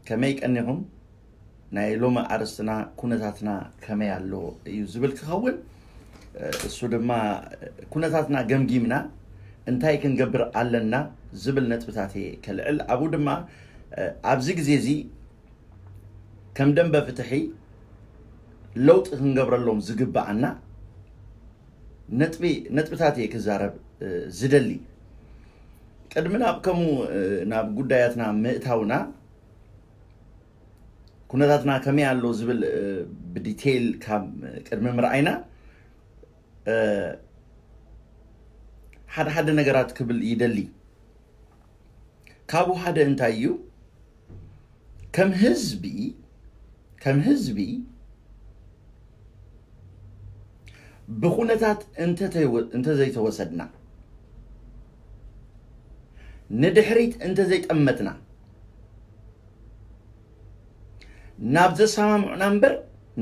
ከመይ ቀኒኹም? ናይ ሎሚ ኣርእስትና ኩነታትና ከመይ ኣሎ እዩ ዝብል ክኸውን። እሱ ድማ ኩነታትና ገምጊምና እንታይ ክንገብር ኣለና ዝብል ነጥብታት እየ ከልዕል። ኣብኡ ድማ ኣብዚ ግዜ እዚ ከም ደንበ ፍትሒ ለውጢ ክንገብረሎም ዝግብኣና ነጥቢ ነጥብታት እየ ክዛረብ ዝደሊ። ቅድሚ ናብ ከምኡ ናብ ጉዳያትና ምእታውና ኩነታትና ከመይ ኣሎ ዝብል ብዲቴይል ካብ ቅድሚ ምርኣይና ሓደ ሓደ ነገራት ክብል ይደሊ። ካብኡ ሓደ እንታይ እዩ? ከም ህዝቢ ከም ህዝቢ ብኩነታት እንተተይወ- እንተዘይተወሰድና፣ ንድሕሪት እንተዘይጠመትና፣ ናብ ዘሰማምዑና እምበር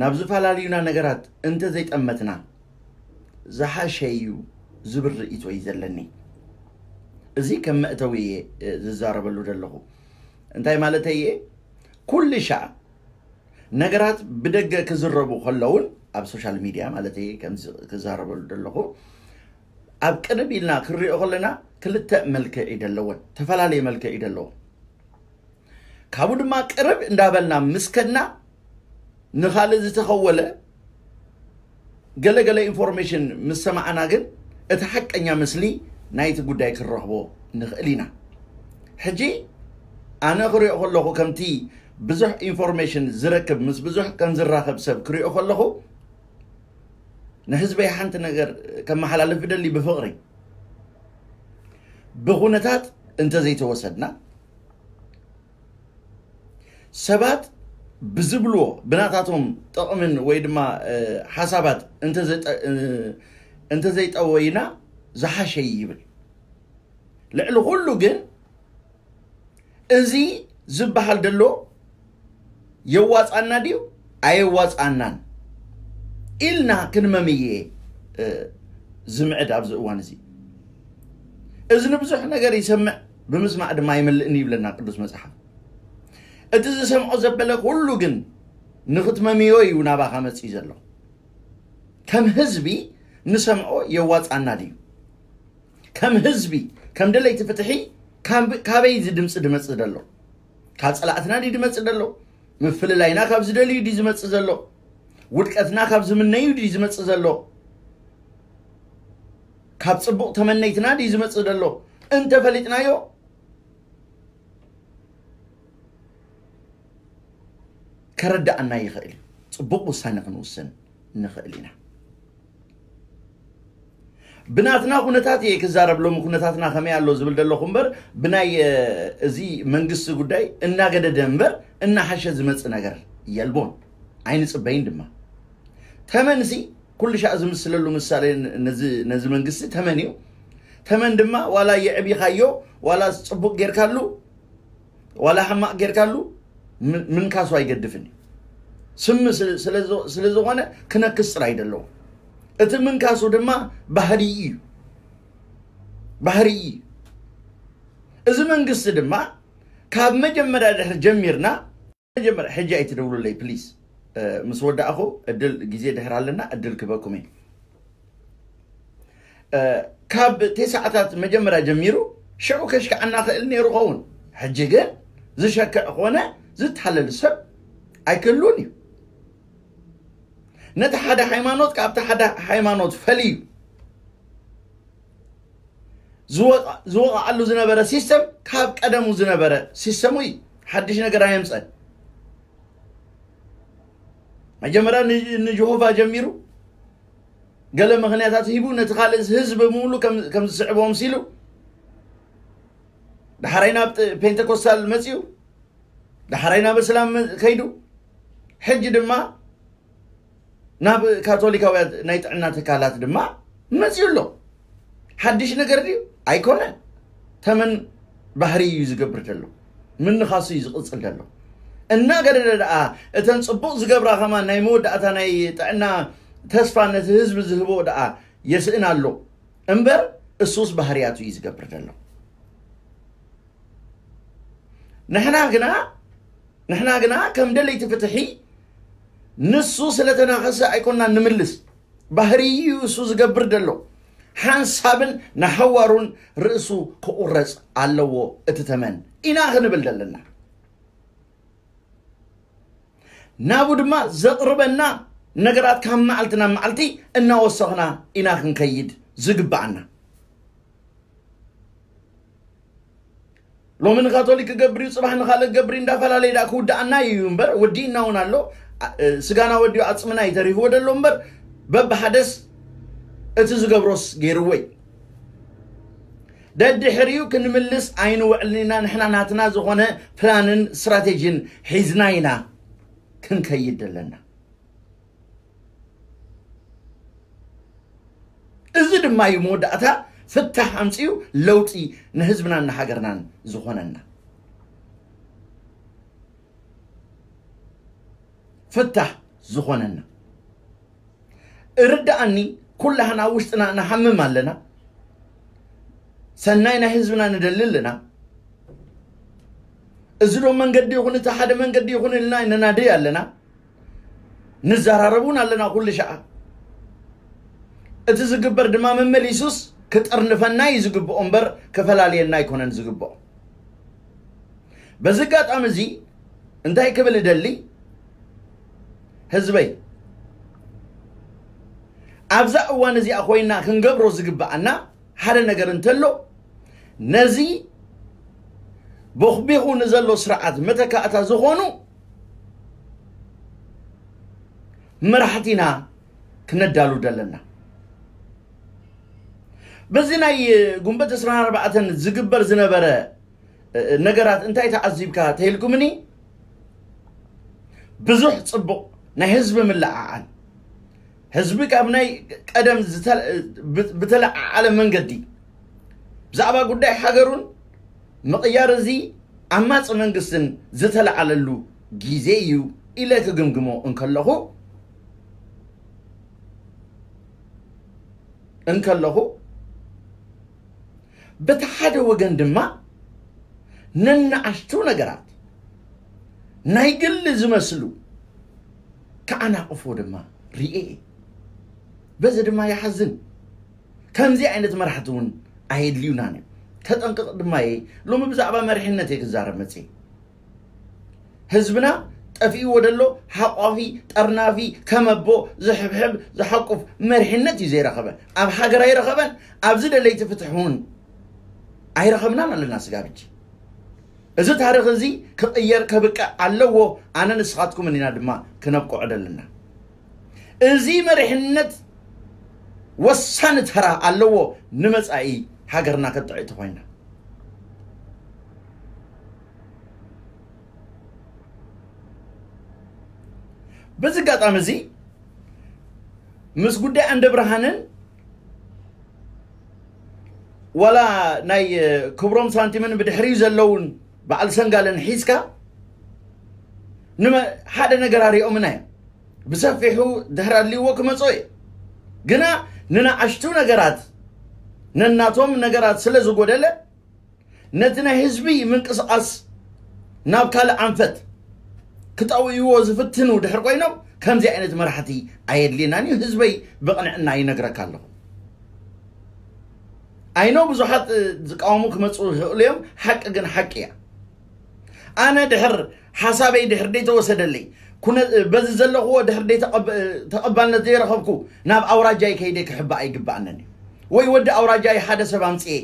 ናብ ዝፈላለዩና ነገራት እንተዘይጠመትና ዝሓሸ እዩ ዝብል ርእይቶ እዩ ዘለኒ። እዚ ከም መእተዊ እየ ዝዛረበሉ ዘለኹ። እንታይ ማለተይ እየ? ኩሉ ሻዕ ነገራት ብደገ ክዝረቡ ከለውን ኣብ ሶሻል ሚድያ ማለት እየ ከም ክዛረበሉ ዘለኹ ኣብ ቅርብ ኢልና ክንሪኦ ከለና ክልተ መልክዕ እዩ ዘለወን፣ ተፈላለየ መልክዕ እዩ ዘለዎ። ካብኡ ድማ ቅርብ እንዳበልና ምስ ከድና ንኻልእ ዝተኸወለ ገለገለ ኢንፎርሜሽን ምስ ሰማዕና ግን እቲ ሓቀኛ ምስሊ ናይቲ ጉዳይ ክንረኽቦ ንኽእል ኢና። ሕጂ ኣነ ክሪኦ ከለኹ ከምቲ ብዙሕ ኢንፎርሜሽን ዝረክብ ምስ ብዙሕ ከም ዝራኸብ ሰብ ክሪኦ ከለኹ ንህዝበይ ሓንቲ ነገር ከመሓላልፍ ብደሊ ብፍቕሪ ብኩነታት እንተዘይተወሰድና ሰባት ብዝብልዎ ብናታቶም ጥቕምን ወይ ድማ ሓሳባት እንተዘይጠወይና ዝሓሸ ይብል። ልዕሊ ኩሉ ግን እዚ ዝበሃል ደሎ የዋፃና ድዩ ኣየዋፃናን ኢልና ክንመምየ ዝምዕድ ኣብዚ እዋን እዚ። እዚ ንብዙሕ ነገር ይሰምዕ፣ ብምስማዕ ድማ ይመልእኒ ይብለና ቅዱስ መፅሓፍ። እቲ ዝሰምዖ ዘበለ ኩሉ ግን ንኽትመምዮ እዩ ናባኻ መፅዩ ዘሎ። ከም ህዝቢ ንሰምዖ የዋፃና ድዩ? ከም ህዝቢ ከም ደለይቲ ፍትሒ ካበይ እዚ ድምፂ ድመፅእ ዘሎ? ካብ ፀላእትና ድዩ ድመፅእ ዘሎ? ምፍልላይና ካብ ዝደልዩ ድዩ ዝመፅእ ዘሎ? ውድቀትና ካብ ዝምነዩ ድዩ ዝመፅእ ዘሎ? ካብ ፅቡቕ ተመነይትና ድዩ ዝመፅእ ዘሎ? እንተፈሊጥናዮ ከረዳኣና ይኽእል እዩ። ፅቡቕ ውሳነ ክንውስን ንኽእል ኢና። ብናትና ኩነታት እየ ክዛረብ። ሎሚ ኩነታትና ከመይ ኣሎ ዝብል ዘለኹ እምበር ብናይ እዚ መንግስቲ ጉዳይ እናገደደ እምበር እናሓሸ ዝመፅእ ነገር የልቦን፣ ኣይንፅበይን ድማ። ተመንሲ ኩሉ ሻዕ ዝምስለሉ ምሳሌ ነዚ መንግስቲ ተመን እዩ። ተመን ድማ ዋላ የዕቢኻዮ ዋላ ፅቡቅ ጌርካሉ ዋላ ሕማቅ ጌርካሉ ምንካሱ ኣይገድፍን እዩ። ስሚ ስለዝኾነ ክነክስ ጥራይ ደለዎ። እቲ ምንካሱ ድማ ባህሪ እዩ፣ ባህሪ እዩ። እዚ መንግስቲ ድማ ካብ መጀመርያ ድሕር ጀሚርና መጀመርያ ሕጂ ኣይትደውሉለይ ፕሊስ። ምስ ወዳእኹ እድል ግዜ ድሕር ኣለና እድል ክበኩም እየ። ካብ ቴስዓታት መጀመርያ ጀሚሩ ሽዑ ከሽክዓና ክእል ነይሩ ኸውን። ሕጂ ግን ዝሸክዕ ኮነ ዝታለል ሰብ ኣይክህሉን እዩ። ነቲ ሓደ ሃይማኖት ካብቲ ሓደ ሃይማኖት ፈልዩ ዝወቃ- ዝወቃዓሉ ዝነበረ ሲስተም ካብ ቀደሙ ዝነበረ ሲስተሙ እዩ። ሓድሽ ነገር ኣየምፀን። መጀመርያ ን- ንጀሆቫ ጀሚሩ ገለ ምኽንያታት ሂቡ ነቲ ካልእ ህዝቢ ምሉ ከም ከም ዝስዕቦ ምሲሉ ዳሕራይ ናብ ጥ- ፔንቴኮስታል መፅዩ ዳሕራይ ናብ እስላም ከይዱ ሕጂ ድማ ናብ ካቶሊካውያን ናይ ጥዕና ትካላት ድማ መፅዩ ኣሎ። ሓድሽ ነገር ድዩ? ኣይኮነን። ተመን ባህሪ እዩ ዝገብር ዘሎ፣ ምንኻሱ እዩ ዝቕፅል ዘሎ። እናገደደ ደኣ እተን ፅቡቕ ዝገብራ ከማን ናይ መወዳእታ ናይ ጥዕና ተስፋ ነቲ ህዝቢ ዝህቦ ደኣ የስእን ኣሎ እምበር እሱስ ባህርያቱ እዩ ዝገብር ዘሎ። ንሕና ግና ንሕና ግና ከም ደለይቲ ፍትሒ ንሱ ስለተናኸሰ ኣይኮና ንምልስ። ባህርዩ እሱ ዝገብር ዘሎ ሓንሳብን ንሓዋሩን ርእሱ ክቑረጽ ኣለዎ እቲ ተመን ኢና ክንብል ዘለና። ናቡ ድማ ዘቕርበና ነገራት ካብ መዓልቲ ናብ መዓልቲ እናወሰኽና ኢና ክንከይድ ዝግብኣና። ሎሚ ንካቶሊክ ክገብር እዩ፣ ጽባሕ ንኻልእ ክገብር እዩ እንዳፈላለየ ደኣ ክውድኣና እዩ እምበር፣ ወዲእና እውን ኣሎ። እ፣ ስጋና ወዲኡ ዓጽምና እዩ ተሪፍዎ ዘሎ እምበር፣ በብሓደስ እቲ ዝገብሮስ ገይርዎ እዩ። ደድሕሪኡ ክንምልስ ኣይንውዕልን ኢና። ንሕና ናትና ዝኾነ ፕላንን ስትራቴጂን ሒዝና ኢና ክንከይድ ዘለና። እዚ ድማ እዩ መወዳእታ ፍታሕ ኣምጺኡ ለውጢ ንህዝብናን ንሃገርናን ዝኾነና። ፍታሕ ዝኾነና። እርዳኣኒ፣ ኩላህና ውሽጥና ንሓምም ኣለና። ሰናይ ናይ ህዝብና ንደሊ ኣለና። እዚ ዶ መንገዲ ይኹን፣ እቲ ሓደ መንገዲ ይኹን ኢልና ንናደይ ኣለና። ንዘራረብ እውን ኣለና ኩሉ ሸዓ። እቲ ዝግበር ድማ መመሊሱስ ክጥርንፈና እዩ ዝግብኦ እምበር ክፈላልየና ኣይኮነን ዝግብኦ። በዚ ኣጋጣሚ እዚ እንታይ ክብል እደሊ፣ ህዝበይ፣ ኣብዛ እዋን እዚኣ ኮይና ክንገብሮ ዝግብኣና ሓደ ነገር እንተሎ፣ ነዚ ቦኽቢኹ ንዘሎ ስርዓት መተካእታ ዝኾኑ መራሕቲና ክነዳሉ ደለና። በዚ ናይ ጉንበት ዕስራን ኣርባዕተን ዝግበር ዝነበረ ነገራት እንታይ ተዓዚብካ ተይልኩምኒ? ብዙሕ ጽቡቕ ናይ ህዝቢ ምልዕዓል፣ ህዝቢ ካብ ናይ ቀደም ዝተ-፣ ብ-፣ ብተለዓዓለ መንገዲ ብዛዕባ ጉዳይ ሃገሩን ምቕያር እዚ ዓማጺ መንግስትን ዝተለዓለሉ ግዜ እዩ ኢለ ክግምግሞ እንከለኹ፣ እንከለኹ፣ በቲ ሓደ ወገን ድማ ነንኣሽቱ ነገራት፣ ናይ ግሊ ዝመስሉ፣ ክዓናቕፎ ድማ ርእየ። በዚ ድማ ይሓዝን። ከምዚ ዓይነት መራሕቲ እውን ኣየድልዩናን እዮም። ተጠንቅቕ ድማ እየ። ሎሚ ብዛዕባ መሪሕነት እየ ክዛረብ መጽየ። ህዝብና ጠፊእዎ ደሎ ሓቋፊ፣ ጠርናፊ፣ ከመቦ፣ ዝሕብሕብ፣ ዝሓቁፍ መሪሕነት እዩ ዘይረኸበ። ኣብ ሃገር ኣይረኸበን፣ ኣብዚ ደለይቲ ፍትሒ እውን ኣይረኸብናን ኣለና ስጋብ ሕጂ። እዚ ታሪኽ እዚ ክቕየር ከብቅዕ ኣለዎ። ኣነ ንስኻትኩምን ኢና ድማ ክነብቅዖ ደለና። እዚ መሪሕነት ወሳኒ ተራ ኣለዎ ንመጻኢ ሃገርና ከጥዕይ ተኾይና። በዚ ኣጋጣሚ እዚ ምስ ጉዳይ ኣንደ ብርሃንን ዋላ ናይ ክብሮም ሳንቲምን ብድሕሪኡ ዘለውን በዓል ሰንጋልን ሒዝካ ንመ-፣ ሓደ ነገር ኣሪኦምና እዮም። ብሰፊሑ ድሕሪ ኣድልይዎ ክመጾ እዩ። ግና ንንኣሽቱ ነገራት ነናቶም ነገራት ስለ ዝጎደለ ነቲ ናይ ህዝቢ ምንቅስቓስ ናብ ካልእ ኣንፈት ክጠውይዎ ዝፍትኑ ድሕር ኮይኖም ከምዚ ዓይነት መራሕቲ ኣየድልየናን እዩ። ህዝበይ ብቕንዕና ይነግረካ ኣለኹ። ኣይኖ ብዙሓት ዝቃወሙ ክመጹ ይኽእሉ እዮም። ሓቂ ግን ሓቂ እያ። ኣነ ድሕር ሓሳበይ ድሕር ደይተወሰደለይ፣ ኩነ-፣ በዚ ዘለኽዎ ድሕር ደይተቐብ-፣ ተቐባልነት ዘይረኸብኩ ናብ ኣውራጃይ ከይደ ክሕባእ ኣይግባኣንን እዩ። ወይ ወዲ ኣውራጃይ ሓደ ሰብ ኣምጽኤ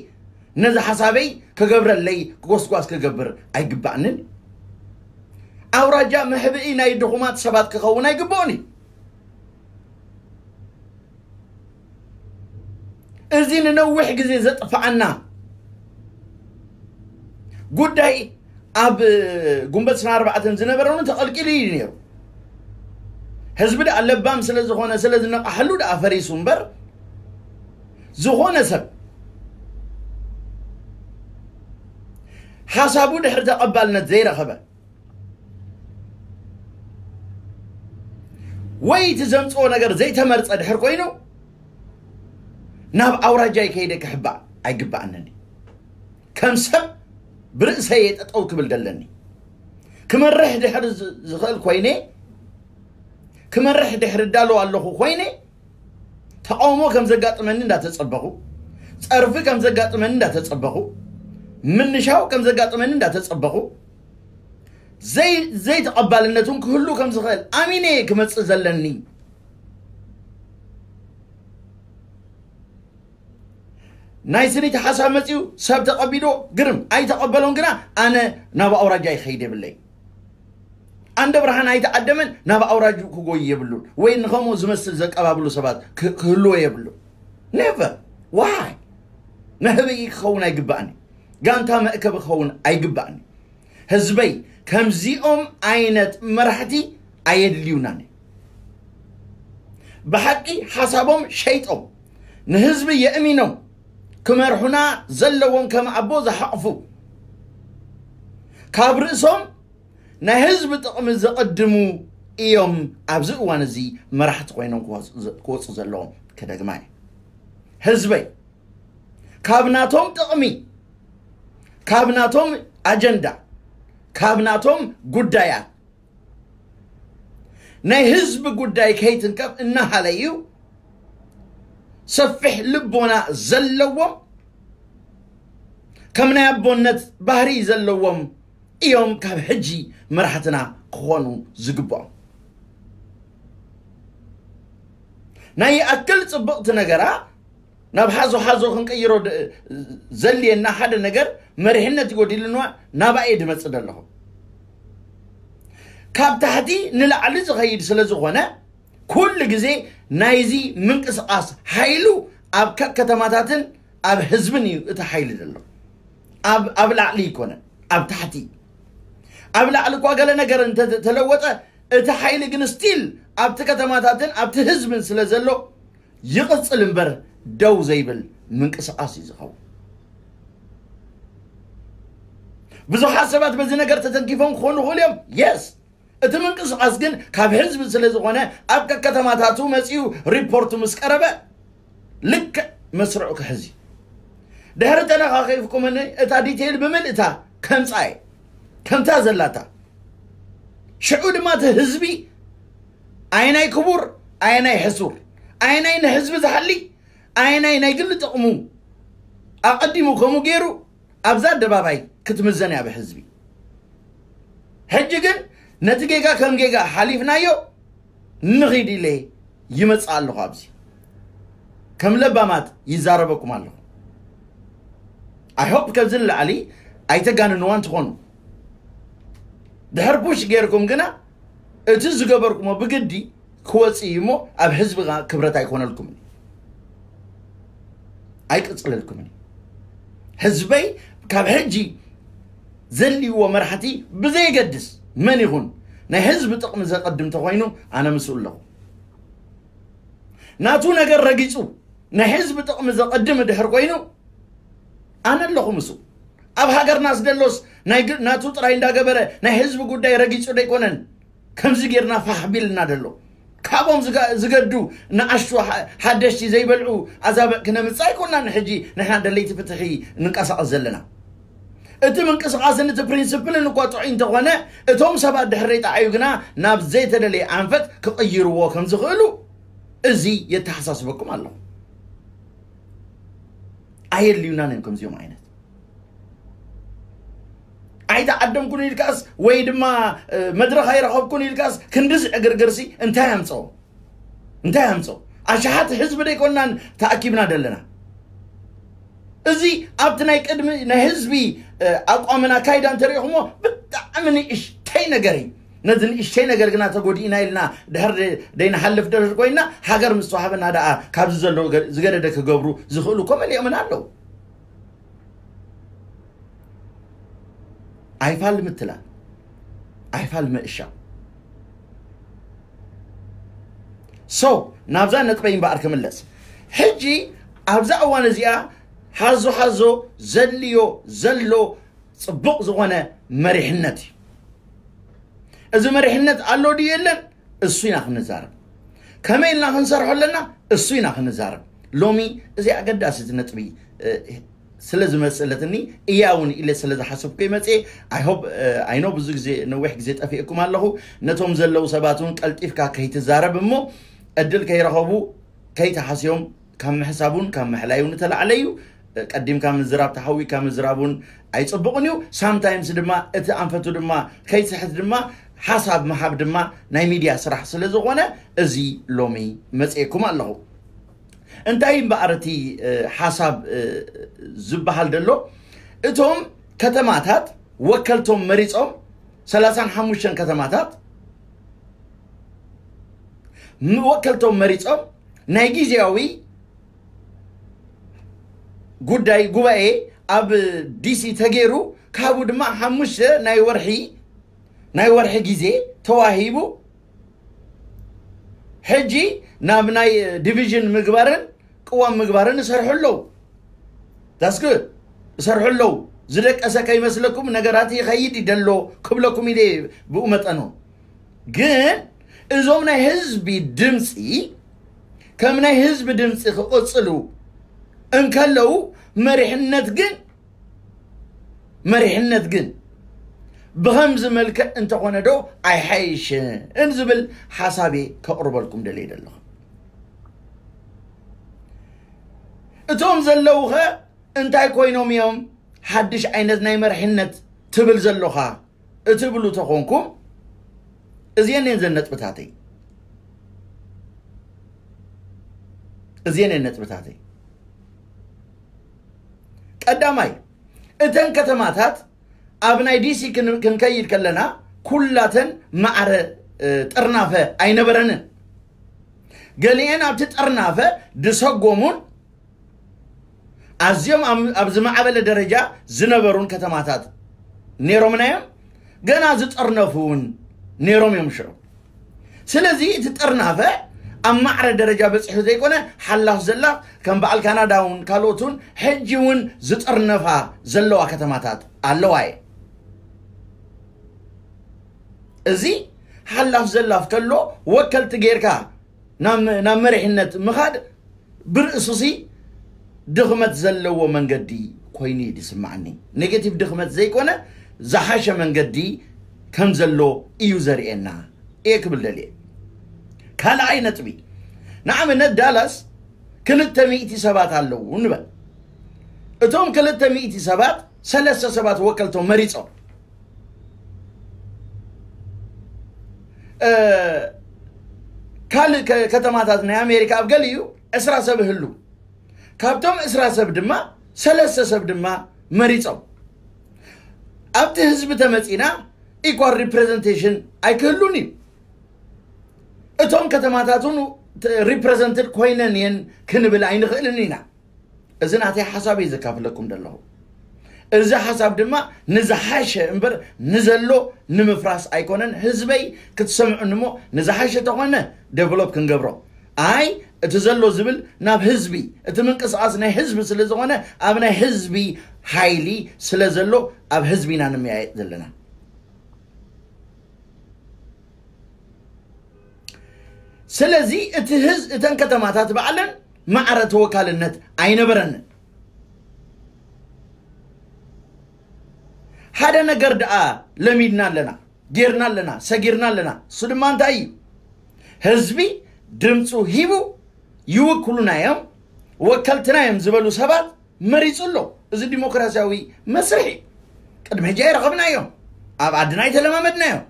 ነዚ ሓሳበይ ክገብረለይ ጎስጓስ ክገብር ኣይግባኣንን እዩ። ኣውራጃ መሕብኢ ናይ ድኹማት ሰባት ክኸውን ኣይግብኦን እዩ። እዚ ንነዊሕ ግዜ ዘጥፍኣና ጉዳይ ኣብ ጉንበት ዕስራን ኣርባዕተን ዝነበረ እውን ተቐልቂሉ እዩ ነይሩ። ህዝቢ ደኣ ለባም ስለ ዝኾነ፣ ስለ ዝነቓሐሉ ደኣ ፈሪሱ እምበር፣ ዝኾነ ሰብ ሓሳቡ ድሕሪ ተቐባልነት ዘይረኸበ ወይ እቲ ዘምጽኦ ነገር ዘይተመርጸ ድሕር ኮይኑ ናብ ኣውራጃይ ከይደ ክሕባእ ኣይግባኣንን እዩ። ከም ሰብ ብርእሰይ እየ ጠጠው ክብል ደለኒ። ክመርሕ ድሕሪ ዝ- ዝኽእል ኮይነ፣ ክመርሕ ድሕሪ እዳለዉ ኣለኹ ኮይነ፣ ተቃውሞ ከም ዘጋጥመኒ እንዳተጸበኹ፣ ጸርፊ ከም ዘጋጥመኒ እንዳተጸበኹ፣ ምንሻው ከም ዘጋጥመኒ እንዳተጸበኹ፣ ዘይ ዘይተቐባልነት እውን ክህሉ ከም ዝኽእል ኣሚነ እየ ክመጽእ ዘለኒ። ናይ ስኒት ሓሳብ መጺኡ ሰብ ተቐቢልዎ፣ ግርም ኣይተቐበሎን፣ ግና ኣነ ናብ ኣውራጃ ይኸይድ የብለይ። ኣንደ ብርሃን ኣይተዓደመን፣ ናብ ኣውራጅኡ ክጎይ የብሉን፣ ወይ ንኸምኡ ዝመስል ዘቀባብሉ ሰባት ክ- ክህልዎ የብሉን። Never. Why? መህበይ ክኸውን ኣይግባእኒ። ጋንታ መእከቢ ክኸውን ኣይግባእኒ። ህዝበይ፣ ከምዚኦም ዓይነት መራሕቲ ኣየድልዩናን። ብሓቂ ሓሳቦም ሸይጦም ንህዝቢ የእሚኖም ክመርሑና ዘለዎም ከም ኣቦ ዝሓቕፉ፣ ካብ ርእሶም ናይ ህዝቢ ጥቕሚ ዘቐድሙ እዮም ኣብዚ እዋን እዚ መራሕቲ ኮይኖም ክወፁ ዘለዎም። ከደግማ እየ። ህዝበይ፣ ካብ ናቶም ጥቕሚ፣ ካብ ናቶም ኣጀንዳ፣ ካብ ናቶም ጉዳያት፣ ናይ ህዝቢ ጉዳይ ከይትንከፍ እናሃለዩ፣ ሰፊሕ ልቦና ዘለዎም፣ ከም ናይ ኣቦነት ባህሪ ዘለዎም እዮም ካብ ሕጂ መራሕትና ክኾኑ ዝግብኦም። ናይ ይኣክል ጽብቕቲ ነገራ ናብ ሓዞ ሓዞ ክንቅይሮ ድ- ዘልየና ሓደ ነገር፣ መሪሕነት ይጎዲልንዋ፣ ናባኤ ድመጽእ ደለኹ። ካብ ታሕቲ ንላዕሊ ዝኸይድ ስለ ዝኾነ፣ ኩሉ ግዜ ናይዚ ምንቅስቓስ ሓይሉ ኣብ ከከተማታትን ኣብ ህዝብን እዩ እቲ ሓይሊ ዘሎ። ኣብ ኣብ ላዕሊ ይኮነን፣ ኣብ ታሕቲ። ኣብ ላዕሊ እኳ ገለ ነገር እንተተለወጠ፣ እቲ ሓይሊ ግን ስቲል ኣብቲ ከተማታትን ኣብቲ ህዝብን ስለ ዘሎ፣ ይቕጽል እምበር ደው ዘይብል ምንቅስቓስ እዩ ዝኸውን። ብዙሓት ሰባት በዚ ነገር ተተንኪፎም ክኾኑ ይኽእሉ እዮም። የስ፣ እቲ ምንቅስቓስ ግን ካብ ህዝቢ ስለ ዝኾነ፣ ኣብ ከከተማታቱ መጺኡ ሪፖርቱ ምስ ቀረበ፣ ልክዕ መስርዑ ክሕዝ እዩ። ድሕሪ ተነኻኺፍኩምኒ፣ እታ ዲቴይል ብምልእታ ከምጻ እየ፣ ከምታ ዘላታ። ሽዑ ድማ እቲ ህዝቢ ኣየናይ ክቡር፣ ኣየናይ ሕሱር፣ ኣየናይ ንህዝቢ ዝሓሊ፣ ኣየናይ ናይ ግሊ ጥቕሙ ኣቐዲሙ ከምኡ ገይሩ ኣብዛ ኣደባባይ ክትምዘን እያ ብህዝቢ። ሕጂ ግን ነቲ ጌጋ ከም ጌጋ ሓሊፍናዮ ንኺድ ኢለ ይመጽእ ኣለኹ። ኣብዚ ከም ለባማት ይዛረበኩም ኣለኹ። I hope ከዚ ንላዕሊ ኣይተጋንንዋን ትኾኑ። ድሕር ፑሽ ጌርኩም ግና እቲ ዝገበርኩሞ ብግዲ ክወጽእ እዩ እሞ ኣብ ህዝቢ ክብረት ኣይኮነልኩምን፣ ኣይቅጽለልኩምን። ህዝበይ ካብ ሕጂ ዘልይዎ መራሕቲ ብዘየገድስ መን ይኹን ናይ ህዝቢ ጥቕሚ ዘቐድም ተኾይኑ ኣነ ምስኡ ኣለኹ። ናቱ ነገር ረጊጹ ናይ ህዝቢ ጥቕሚ ዘቐድም ድሕር ኮይኑ ኣነ ኣለኹ ምስኡ። ኣብ ሃገርና ዝደሎስ ናይ ግ- ናቱ ጥራይ እንዳገበረ ናይ ህዝቢ ጉዳይ ረጊጹ ደይኮነን ከምዚ ጌርና ፋሕ ቢልና ደሎ። ካብኦም ዝገ- ዝገዱ ንኣሽቱ ሓ- ሓደሽቲ ዘይበልዑ ኣዛብዕ ክነምጽእ ኣይኮናን። ሕጂ ንሕና ደለይቲ ፍትሒ ንንቀሳቐስ ዘለና። እቲ ምንቅስቓስን እቲ ፕሪንስፕልን እኳ ጥዑይ እንተኾነ፣ እቶም ሰባት ድሕሪ ጠዓዩ ግና ናብ ዘይተደለየ ኣንፈት ክቕይርዎ ከም ዝኽእሉ እዚ የተሓሳስበኩም ኣለኹ። ኣየድልዩናን እዮም ከምዚኦም ዓይነት። ኣይተዓደምኩን ኢልካስ ወይ ድማ እ፣ መድረኽ ኣይረኸብኩን ኢልካስ ክንድዚ ዕግርግርሲ እንታይ ኣምፅኦ? እንታይ ኣምፅኦ? ኣሽሓት ህዝቢ ደይኮንናን ተኣኪብና ዘለና። እዚ ኣብቲ ናይ ቅድሚ ናይ ህዝቢ እ፣ ኣቋምን ኣካይዳ እንተሪኢኹሞ ብጣዕሚ ንእሽተይ ነገር እዩ። ነዚ ንእሽተይ ነገር ግና ተጎዲእና ኢልና ድሕር ደይንሓልፍ ድሕር ኮይና፣ ሃገር ምስ ተዋህበና ደኣ ካብዚ ዘሎ ገ- ዝገደደ ክገብሩ ዝኽእሉ እኮ መሊኦምን ኣለዉ። ኣይፋል ምትላል፣ ኣይፋል ምእሻው። ሶ ናብዛ ነጥበይ እምበኣር ክምለስ። ሕጂ ኣብዛ እዋን እዚኣ ሓዞ ሓዞ ዘድልዮ ዘሎ ጽቡቕ ዝኾነ መሪሕነት እዩ። እዚ መሪሕነት ኣሎ ድዩ የለን? እሱ ኢና ክንዛረብ። ከመይ ኢልና ክንሰርሖ ኣለና? እሱ ኢና ክንዛረብ። ሎሚ እዚ ኣገዳሲ ነጥቢ እ፣ ስለ ዝመስለትኒ እያ እውን ኢለ ስለ ዝሓሰብኩ መፅእ። I hope I know ብዙ ግዜ ነዊሕ ግዜ ጠፊእኩም ኣለኹ። ነቶም ዘለዉ ሰባት እውን ቀልጢፍካ ከይትዛረብ እሞ ዕድል ከይረኸቡ ከይተሓስዮም ካብ ምሕሳብ እውን ካብ ምሕላይ እውን እተላዕለ እዩ። ቀዲምካ ምዝራብ ተሓዊካ ምዝራብ እውን ኣይፅቡቕን እዩ። ሳምታይምስ ድማ እቲ ኣንፈቱ ድማ ከይስሕት ድማ ሓሳብ ምሃብ ድማ ናይ ሚድያ ስራሕ ስለ ዝኾነ እዚ ሎሚ መፅኤኩም ኣለኹ። እንታይ እምበኣር እቲ ሓሳብ ዝበሃል ዘሎ እቶም ከተማታት ወከልቶም መሪፆም ሰላሳን ሓሙሽተን ከተማታት ወከልቶም መሪፆም ናይ ግዜያዊ ጉዳይ ጉባኤ ኣብ ዲሲ ተገይሩ ካብኡ ድማ ሓሙሽተ ናይ ወርሒ ናይ ወርሒ ግዜ ተዋሂቡ ሕጂ ናብ ናይ ዲቪዥን ምግባርን ቅዋም ምግባርን ይሰርሑ ኣለዉ። That's good። ይሰርሑ ኣለዉ። ዝደቀሰ ከይመስለኩም ነገራት ይኸይድ ይደሎ ክብለኩም ኢለ ብኡ መጠኑ ግን እዞም ናይ ህዝቢ ድምፂ ከም ናይ ህዝቢ ድምፂ ክቕፅሉ እንከለዉ መሪሕነት ግን መሪሕነት ግን ብኸምዚ መልክዕ እንተኾነ ዶ ኣይሓይሽን ዝብል ሓሳቤ ከቕርበልኩም ደልየ ዘለኹ። እቶም ዘለዉኸ እንታይ ኮይኖም እዮም ሓድሽ ዓይነት ናይ መርሕነት ትብል ዘሎኻ እትብሉ ተኾንኩም እዚአን እየን ዘን ነጥብታተይ እዚአን እየን ነጥብታተይ ቀዳማይ እተን ከተማታት ኣብ ናይ ዲሲ ክንከይድ ከለና ኩላተን ማዕረ ጥርናፈ ኣይነበረንን። ገሊአን ኣብቲ ጥርናፈ ድሰጎሙን ኣዝዮም ኣብ ዝማዕበለ ደረጃ ዝነበሩን ከተማታት ነይሮምና እዮም። ገና ዝጠርነፉ እውን ነይሮም እዮም ሽዑ። ስለዚ እቲ ጥርናፈ ኣብ ማዕረ ደረጃ በፂሑ ዘይኮነ ሓላፍ ዘላፍ ከም በዓል ካናዳ እውን ካልኦት እውን ሕጂ እውን ዝጥርነፋ ዘለዋ ከተማታት ኣለዋ እየ። እዚ ሓላፍ ዘላፍ ከሎ ወከልቲ ጌርካ ናብ መሪሕነት ምኻድ ብርእሱሲ ድኽመት ዘለዎ መንገዲ ኮይኑ እዩ ዝስማዓኒ። ኔጌቲቭ ድኽመት ዘይኮነ ዝሓሸ መንገዲ ከም ዘሎ እዩ ዘርእየና እየ ክብል ደልየ። ካልኣይ ነጥቢ ንኣብነት ዳላስ ክልተ ሚእቲ ሰባት ኣለዉ ንበል። እቶም ክልተ ሚእቲ ሰባት ሰለስተ ሰባት ወከልቶም መሪፆም ካልእ ከተማታት ናይ ኣሜሪካ ኣብ ገሊኡ ዕስራ ሰብ ይህሉ። ካብቶም ዕስራ ሰብ ድማ ሰለስተ ሰብ ድማ መሪፆም ኣብቲ ህዝቢ ተመፂና ኢኳል ሪፕሬዘንቴሽን ኣይክህሉን እዩ። እቶም ከተማታት እውን ሪፕሬዘንትድ ኮይነን እየን ክንብል ኣይንኽእልን ኢና። እዚ ናተይ ሓሳብ እዩ ዘካፍለኩም ዘለኹ። እዚ ሓሳብ ድማ ንዝሓሸ እምበር ንዘሎ ንምፍራስ ኣይኮነን። ህዝበይ ክትሰምዑኒ እሞ ንዝሓሸ ተኾነ ዴቨሎፕ ክንገብሮ ኣይ እቲ ዘሎ ዝብል ናብ ህዝቢ እቲ ምንቅስቃስ ናይ ህዝቢ ስለ ዝኾነ ኣብ ናይ ህዝቢ ሓይሊ ስለ ዘሎ ኣብ ህዝቢ ኢና ንመያየጥ ዘለና። ስለዚ እቲ ህዝ እተን ከተማታት ባዕለን ማዕረ ተወካልነት ኣይነበረንን። ሓደ ነገር ደኣ ለሚድና ኣለና፣ ጌርና ኣለና፣ ሰጊርና ኣለና። እሱ ድማ እንታይ እዩ? ህዝቢ ድምፁ ሂቡ ይውክሉና እዮም፣ ወከልትና እዮም ዝበሉ ሰባት መሪፁ ኣሎ። እዚ ዲሞክራሲያዊ መስርሕ እዩ። ቅድሚ ሕጂ ኣይረኸብናዮም፣ ኣብ ዓድና ኣይተለማመድናዮም።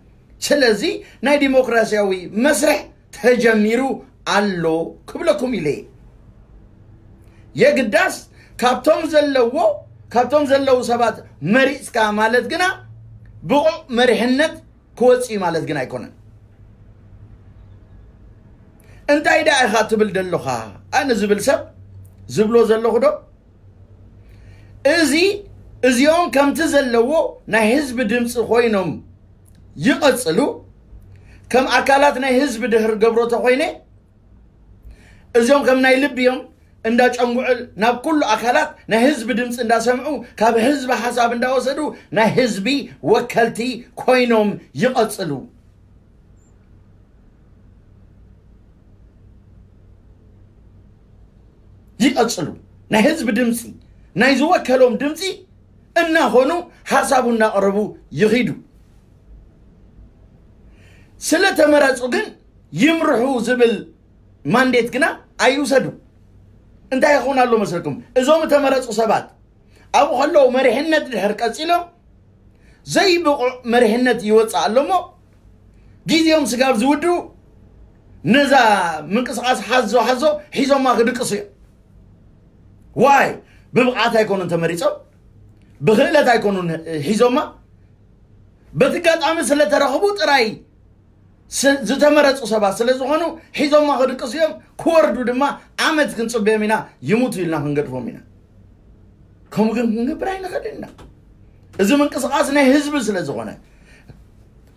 ስለዚ ናይ ዲሞክራሲያዊ መስርሕ ተጀሚሩ ኣሎ ክብለኩም ኢለ እየ። የግዳስ ካብቶም ዘለዎ ካብቶም ዘለዉ ሰባት መሪፅካ ማለት ግና ብቑዕ መሪሕነት ክወፅእ እዩ ማለት ግን ኣይኮነን። እንታይ ደኣ ኢኻ ትብል ደለኻ ኣነ ዝብል ሰብ ዝብሎ ዘለኹ ዶ እዚ እዚኦም ከምቲ ዘለዎ ናይ ህዝቢ ድምፂ ኮይኖም ይቐፅሉ። ከም ኣካላት ናይ ህዝቢ ድሕር ገብሮ ተኮይነ እዚኦም ከም ናይ ልቢ እዮም እንዳጨንጉዕል ናብ ኩሉ ኣካላት ናይ ህዝቢ ድምፂ እንዳሰምዑ ካብ ህዝቢ ሓሳብ እንዳወሰዱ ናይ ህዝቢ ወከልቲ ኮይኖም ይቐፅሉ። ይቐፅሉ ናይ ህዝቢ ድምፂ ናይ ዝወከሎም ድምፂ እናኾኑ ሓሳቡ እናቕረቡ ይኺዱ። ስለ ተመረፁ ግን ይምርሑ ዝብል ማንዴት ግና ኣይውሰዱ። እንታይ ይኸውን ኣሎ መስለኩም? እዞም እተመረፁ ሰባት ኣብኡ ከለዉ መሪሕነት ድሕር ቀፂሎም ዘይብቑዕ መሪሕነት ይወፅእ ኣሎ እሞ ግዜኦም ስጋብ ዝውድኡ ነዛ ምንቅስቃስ ሓዞ ሓዞ ሒዞማ ክድቅሱ እዮም። ዋይ ብብቕዓት ኣይኮኑን ተመሪፆም፣ ብክእለት ኣይኮኑን ሒዞማ። በቲ ኣጋጣሚ ስለተረኽቡ ጥራይ ስ- ዝተመረፁ ሰባት ስለ ዝኾኑ ሒዞማ ክድቅሱ እዮም። ክወርዱ ድማ ዓመት ክንፅበዮም ኢና። ይሙቱ ኢልና ክንገድፎም ኢና። ከምኡ ግን ክንገብር ኣይንኽእልን ኢና። እዚ ምንቅስቃስ ናይ ህዝቢ ስለ ዝኾነ፣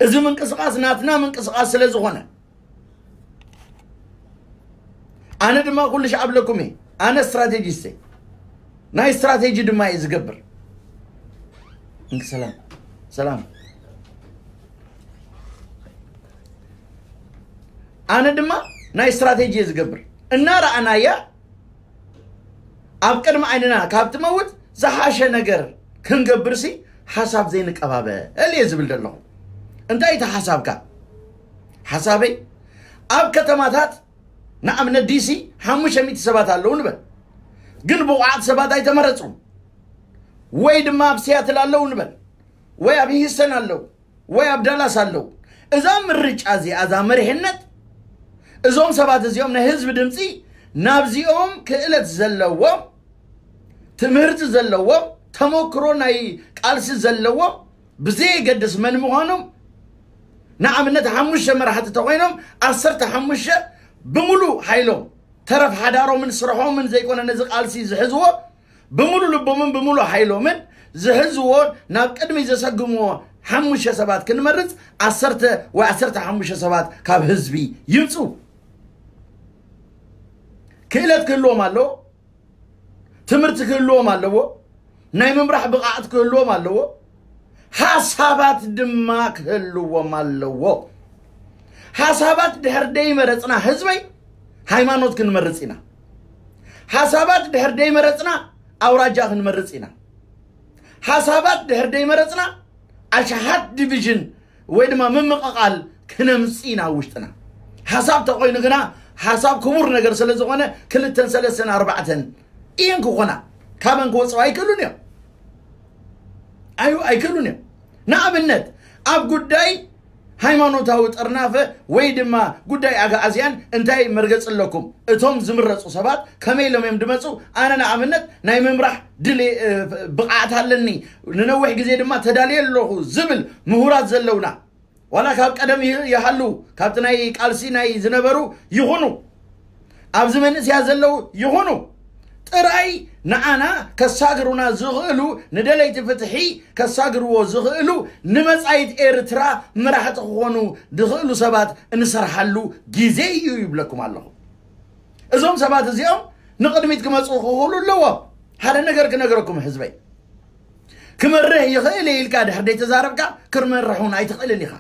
እዚ ምንቅስቃስ ናትና ምንቅስቃስ ስለ ዝኾነ ኣነ ድማ ኩሉ ሻዕ ኣብለኩም እየ። ኣነ ስትራቴጂስት እየ። ናይ ስትራቴጂ ድማ እየ ዝገብር። እንክ ሰላም ሰላም። ኣነ ድማ ናይ ስትራቴጂ እየ ዝገብር። እናረኣናያ ኣብ ቅድሚ ዓይንና ካብ ትመውት ዝሓሸ ነገር ክንገብርሲ ሓሳብ ዘይንቀባበል እየ ዝብል ዘለኹ። እንታይ እቲ ሓሳብካ? ሓሳበይ ኣብ ከተማታት ንኣብነት ዲሲ ሓሙሽተ ሚእቲ ሰባት ኣለዉ ንበል፣ ግን ብቑዓት ሰባት ኣይተመረፁን። ወይ ድማ ኣብ ሲያትል ኣለዉ ንበል፣ ወይ ኣብ ሂስተን ኣለዉ፣ ወይ ኣብ ዳላስ ኣለዉ። እዛ ምርጫ እዚኣ፣ እዛ መሪሕነት፣ እዞም ሰባት እዚኦም ናይ ህዝቢ ድምፂ ናብዚኦም ክእለት ዘለዎም፣ ትምህርቲ ዘለዎም፣ ተመክሮ ናይ ቃልሲ ዘለዎም ብዘየገድስ መን ምዃኖም፣ ንኣብነት ሓሙሽተ መራሕቲ ተኾይኖም ዓሰርተ ሓሙሽተ ብምሉእ ሓይሎም ተረፍ ሓዳሮምን ስርሖምን ዘይኮነ ነዚ ቃልሲ ዝሕዝዎ ብምሉእ ልቦምን ብምሉእ ሓይሎምን ዝሕዝዎ ናብ ቅድሚ ዘሰግምዎ ሓሙሽተ ሰባት ክንመርፅ ዓሰርተ ወይ ዓሰርተ ሓሙሽተ ሰባት ካብ ህዝቢ ይምፁ። ክእለት ክህልዎም ኣለዎ። ትምህርቲ ክህልዎም ኣለዎ። ናይ ምምራሕ ብቕዓት ክህልዎም ኣለዎ። ሓሳባት ድማ ክህልዎም ኣለዎ። ሓሳባት ድሕር ደይመረፅና ህዝበይ ሃይማኖት ክንመርፅ ኢና። ሓሳባት ድሕር ደይመረፅና ኣውራጃ ክንመርፅ ኢና። ሓሳባት ድሕር ደይመረፅና ኣሽሓት ዲቪዥን ወይ ድማ ምምቕቓል ክነምፅእ ኢና ኣብ ውሽጥና። ሓሳብ ተኾይኑ ግና ሓሳብ ክቡር ነገር ስለ ዝኾነ ክልተን ሰለስተን ኣርባዕተን እየን ክኾና። ካበን ክወፅኡ ኣይክእሉን እዮም። ኣዩ ኣይክእሉን እዮም። ንኣብነት ኣብ ጉዳይ ሃይማኖታዊ ጥርናፈ ወይ ድማ ጉዳይ ኣግኣዝያን እንታይ መርገፂ ኣለኩም? እቶም ዝምረፁ ሰባት ከመይ ኢሎም እዮም ድመፁ? ኣነ ንኣብነት ናይ ምምራሕ ድል ብቕዓት ኣለኒ፣ ንነዊሕ ግዜ ድማ ተዳልየ ኣለኹ ዝብል ምሁራት ዘለውና ዋላ ካብ ቀደም ይሃሉ ካብቲ ናይ ቃልሲ ናይ ዝነበሩ ይኹኑ ኣብዚ መንእስያ ዘለዉ ይኹኑ ጥራይ ንዓና ከሳግሩና ዝኽእሉ ንደለይቲ ፍትሒ ከሳግርዎ ዝኽእሉ ንመጻኢት ኤርትራ መራሕቲ ክኾኑ ዝኽእሉ ሰባት እንሰርሓሉ ግዜ እዩ ይብለኩም ኣለኹ። እዞም ሰባት እዚኦም ንቕድሚት ክመፁ ክኽእሉ ኣለዎም። ሓደ ነገር ክነገረኩም ህዝበይ፣ ክመርሕ ይኽእል እየ ኢልካ ድሕር ደይተዛረብካ ክመርሕ እውን ኣይትኽእልን ኢኻ።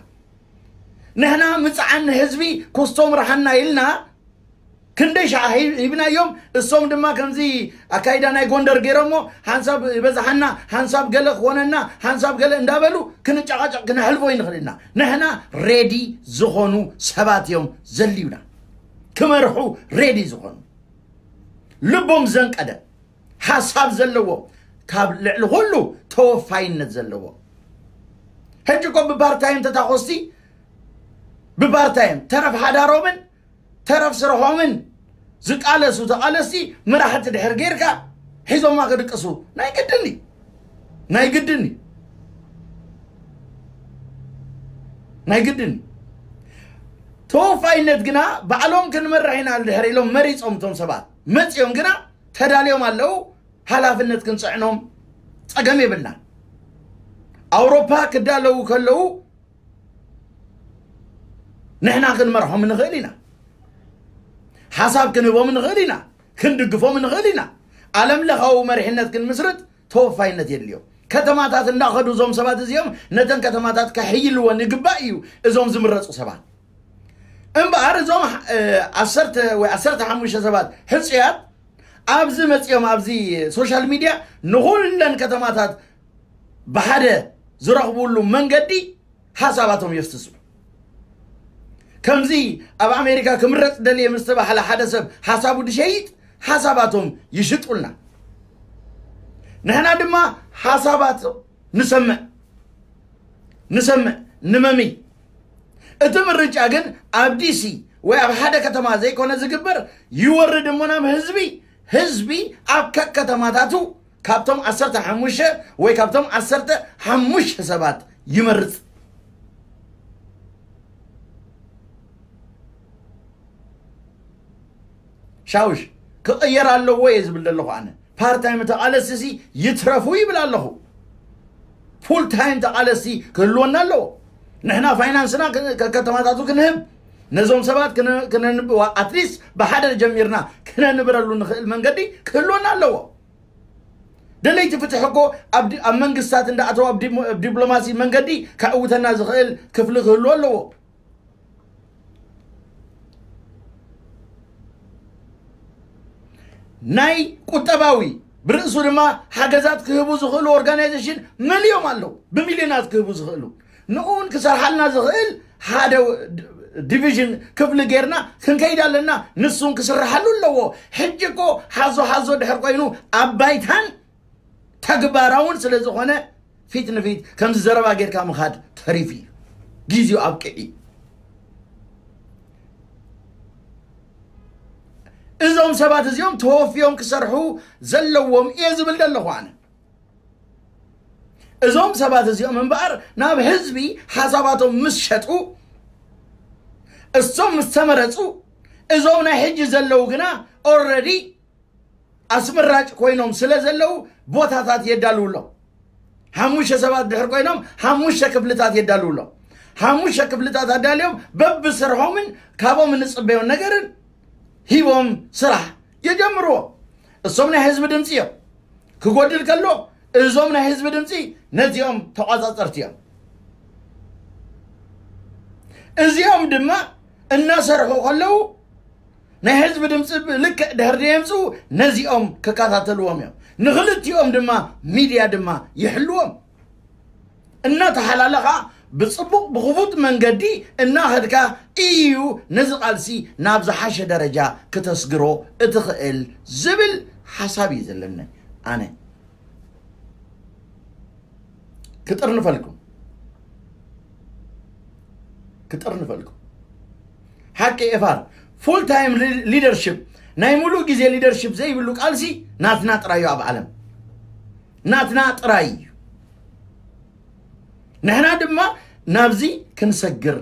ንሕና ምፅዓን ንህዝቢ ኮስቶም ረሃና ኢልና ክንደይ ሸዓ ሂብናዮም። እሶም ድማ ከምዚ ኣካይዳ ናይ ጎንደር ገይሮሞ ሓንሳብ ይበዝሓና ሓንሳብ ገለ ክኾነና ሓንሳብ ገለ እንዳበሉ ክንጨቃጨቅ ክነሕልፎ ይንኽእል ኢና። ንሕና ሬዲ ዝኾኑ ሰባት እዮም ዘልዩና። ክመርሑ ሬዲ ዝኾኑ ልቦም ዘንቀደ ሓሳብ ዘለዎ ካብ ልዕሊ ኩሉ ተወፋይነት ዘለዎ። ሕጂ እኮ ብባርታይም ተታኮስቲ ብባርታይም ተረፍ ሓዳሮምን ተረፍ ስርሖምን ዝቃለሱ ተቃለስቲ መራሕቲ ድሕር ጌርካ ሒዞማ ክድቅሱ ናይ ግድን እዩ። ናይ ግድን እዩ። ናይ ግድን እዩ። ተወፋይነት ግና ባዕሎም ክንመርሕ ኢና ድሕር ኢሎም መሪፆም እቶም ሰባት መፂኦም ግና ተዳልዮም ኣለዉ። ሓላፍነት ክንፅዕኖም ፀገም የብልና። ኣውሮፓ ክዳለዉ ከለዉ ንሕና ክንመርሖም ንኽእል ኢና። ሓሳብ ክንህቦም ንኽእል ኢና። ክንድግፎም ንኽእል ኢና። ዓለም ለኻዊ መሪሕነት ክንምስርት ተወፋይነት የድልዮ። ከተማታት እንዳኸዱ እዞም ሰባት እዚኦም ነተን ከተማታት ከሕይልወን ይግባእ እዩ። እዞም ዝምረፁ ሰባት እምበኣር እዞም ዓሰርተ ወይ ዓሰርተ ሓሙሽተ ሰባት ሕፁያት ኣብዚ መፂኦም ኣብዚ ሶሻል ሚድያ ንኹለን ከተማታት ብሓደ ዝረኽብሉ መንገዲ ሓሳባቶም የፍስሱ። ከምዚ ኣብ ኣሜሪካ ክምረፅ ደልየ ምስ ተባህለ ሓደ ሰብ ሓሳቡ ድሸይጥ ሓሳባቶም ይሽጡልና። ንሕና ድማ ሓሳባት ንሰምዕ ንሰምዕ ንመሚ። እቲ ምርጫ ግን ኣብ ዲሲ ወይ ኣብ ሓደ ከተማ ዘይኮነ ዝግበር፣ ይወርድ እሞ ናብ ህዝቢ፣ ህዝቢ ኣብ ከከተማታቱ ካብቶም ዓሰርተ ሓሙሽተ ወይ ካብቶም ዓሰርተ ሓሙሽተ ሰባት ይመርጽ። ሻውሽ ክቕየር ኣለዎ እየ ዝብል ዘለኹ ኣነ። ፓርታይም ተቓለስቲ ሲ ይትረፉ ይብል ኣለኹ። ፉል ታይም ተቓለስቲ ክህልወና ኣለዎ። ንሕና ፋይናንስና ክ- ከከተማታቱ ክንህብ፣ ነዞም ሰባት ክነ- ክነንብዋ፣ ኣትሊስት ብሓደ ጀሚርና ክነንብረሉ ንኽእል መንገዲ ክህልወና ኣለዎ። ደለይቲ ፍትሒ እኮ ኣብ ዲ- ኣብ መንግስታት እንዳኣተው ኣብ ዲሞ- ኣብ ዲፕሎማሲ መንገዲ ከዕውተና ዝኽእል ክፍሊ ክህልዎ ኣለዎ። ናይ ቁጠባዊ ብርእሱ ድማ ሓገዛት ክህቡ ዝኽእሉ ኦርጋናይዜሽን መሊኦም ኣለዉ። ብሚልዮናት ክህቡ ዝኽእሉ፣ ንኡን ክሰርሓልና ዝኽእል ሓደ ዲቪዥን ክፍሊ ጌርና ክንከይድ ኣለና። ንሱን ክስርሓሉ ኣለዎ። ሕጂ እኮ ሓዞ ሓዞ ድሕር ኮይኑ ኣብ ባይታን ተግባራውን ስለ ዝኾነ ፊት ንፊት ከምዚ ዘረባ ጌርካ ምኻድ ተሪፉ እዩ። ግዜኡ ኣብቅዒ። እዞም ሰባት እዚኦም ተወፍዮም ክሰርሑ ዘለዎም እየ ዝብል ዘለኹ ኣነ። እዞም ሰባት እዚኦም እምበኣር ናብ ህዝቢ ሓሳባቶም ምስ ሸጡ፣ እሶም ምስ ተመረፁ፣ እዞም ናይ ሕጂ ዘለዉ ግና ኦልሬዲ ኣስመራጭ ኮይኖም ስለ ዘለዉ ቦታታት የዳልውሎም። ሓሙሽተ ሰባት ድሕር ኮይኖም ሓሙሽተ ክፍልታት የዳልውሎም። ሓሙሽተ ክፍልታት ኣዳልዮም በብስርሖምን ካብኦም እንፅበዮ ነገርን ሂቦም ስራሕ የጀምርዎ። እሶም ናይ ህዝቢ ድምፂ እዮም። ክጎድል ከሎ እዞም ናይ ህዝቢ ድምፂ ነዚኦም ተቋፃፀርቲ እዮም። እዚኦም ድማ እናሰርሑ ከለዉ ናይ ህዝቢ ድምፂ ብልክዕ ድሕር የምፅኡ፣ ነዚኦም ክከታተልዎም እዮም። ንክልቲኦም ድማ ሚድያ ድማ ይሕልዎም። እናተሓላለኻ ብፅቡቕ ብክፉት መንገዲ እናኸድካ እዩ ነዚ ቃልሲ ናብ ዝሓሸ ደረጃ ክተስግሮ እትኽእል ዝብል ሓሳብ እዩ ዘለኒ ኣነ። ክጥርንፈልኩም ክጥርንፈልኩም ሓቂ ኤፋር ፉል ታይም ሊደርሽፕ ናይ ሙሉእ ግዜ ሊደርሽፕ ዘይብሉ ቃልሲ ናትና ጥራዩ ኣብ ዓለም ናትና ጥራይ እዩ። ንሕና ድማ ናብዚ ክንሰግር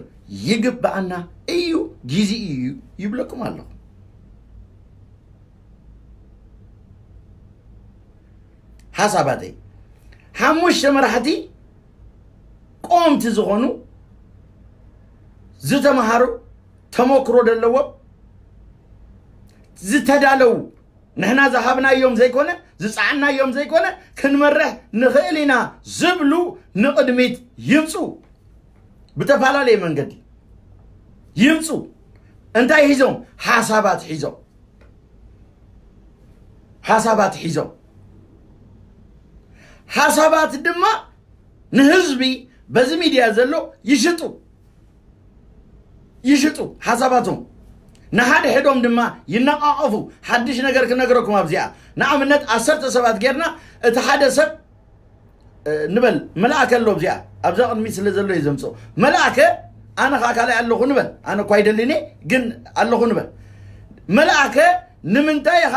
ይግብኣና እዩ። ግዜ እዩ ይብለኩም ኣለኹ። ሓሳባተይ ሓሙሽተ መራሕቲ ቆምቲ ዝኾኑ ዝተምሃሩ ተመክሮ ዘለዎም ዝተዳለዉ ንሕና ዝሃብናዮም ዘይኮነ ዝፀዓናዮም ዘይኮነ ክንመርሕ ንኽእል ኢና ዝብሉ ንቕድሚት ይምፁ። ብተፈላለየ መንገዲ ይምፁ። እንታይ ሒዞም? ሓሳባት ሒዞም ሓሳባት ሒዞም ሓሳባት ድማ ንህዝቢ በዚ ሚድያ ዘሎ ይሽጡ ይሽጡ ሓሳባቶም ንሓደ ሕዶም ድማ ይነቃቀፉ። ሓድሽ ነገር ክነገረኩም ኣብዚኣ ንኣብነት ዓሰርተ ሰባት ጌርና እቲ ሓደ ሰብ ንበል መልኣከ ኣሎ ኣብዚኣ ኣብዛ ቅድሚት ስለ ዘሎ እዩ ዘምፅኦ መልኣከ ኣነ ከዓ ካልኣይ ኣለኹ ንበል ኣነ እኳ ይደሊኒ ግን ኣለኹ ንበል መልኣከ ንምንታይ ኢኻ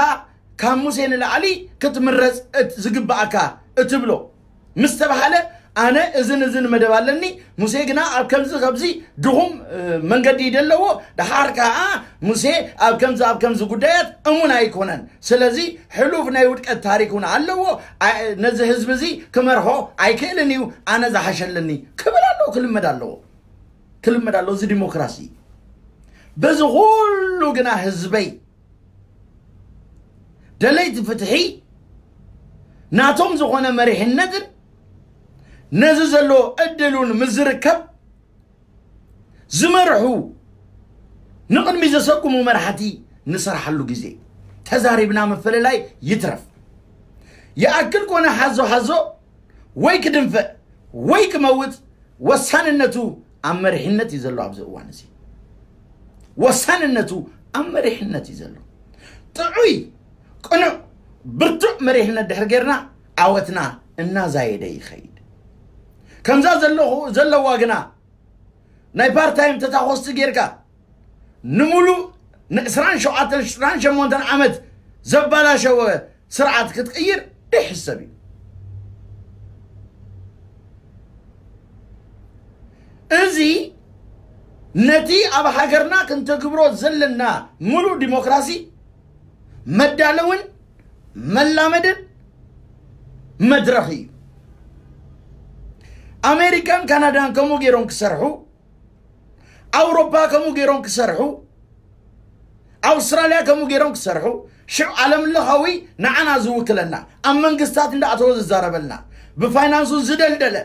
ካብ ሙሴ ንላዕሊ ክትምረፅ ዝግብኣካ እትብሎ ምስ ተባሃለ ኣነ እዝን እዝን መደብ ኣለኒ ሙሴ ግና ኣብ ከምዚ ከብዚ ድኹም መንገዲ ደለዎ ደሓር ከዓ ሙሴ ኣብ ከምዚ ኣብ ከምዚ ጉዳያት እሙን ኣይኮነን ስለዚ ሕሉፍ ናይ ውድቀት ታሪክ እውን ኣለዎ ነዚ ህዝቢ እዚ ክመርሖ ኣይክእልን እዩ ኣነ ዝሓሸለኒ ክብል ኣለዎ ክልመድ ኣለዎ ክልመድ ኣለዎ እዚ ዲሞክራሲ በዚ ኩሉ ግና ህዝበይ ደለይቲ ፍትሒ ናቶም ዝኾነ መሪሕነትን ነዚ ዘሎ ዕድል እውን ምስ ዝርከብ ዝመርሑ ንቕድሚ ዘሰጉሙ መራሕቲ ንሰርሓሉ ግዜ ተዛሪብና ምፍልላይ ይትረፍ። ይኣክል ኮነ ሓዞ ሓዞ ወይ ክድንፍዕ ወይ ክመውት ወሳንነቱ ኣብ መሪሕነት እዩ ዘሎ። ኣብዚ እዋን እዚ ወሳንነቱ ኣብ መሪሕነት እዩ ዘሎ። ጥዑይ፣ ቅኑዕ፣ ብርቱዕ መሪሕነት ድሕር ጌርና ዓወትና እናዛየደ ይኸይድ። ከምዛ ዘለኹ ዘለዋ ግና ናይ ፓርታይም ተታኾስቲ ጌርካ ንምሉእ ን27 28 ዓመት ዘባላሸወ ስርዓት ክትቅይር ደይሕሰብ እዩ። እዚ ነቲ ኣብ ሃገርና ክንተግብሮ ዘለና ምሉእ ዲሞክራሲ መዳለውን መላመድን መድረኽ እዩ። ኣሜሪካን ካናዳን ከምኡ ገይሮም ክሰርሑ፣ ኣውሮፓ ከምኡ ገይሮም ክሰርሑ፣ ኣውስትራልያ ከምኡ ገይሮም ክሰርሑ፣ ሽዑ ዓለም ለኻዊ ንዓና ዝውክለና፣ ኣብ መንግስታት እንዳኣተወ ዝዛረበልና፣ ብፋይናንሱ ዝደልደለ፣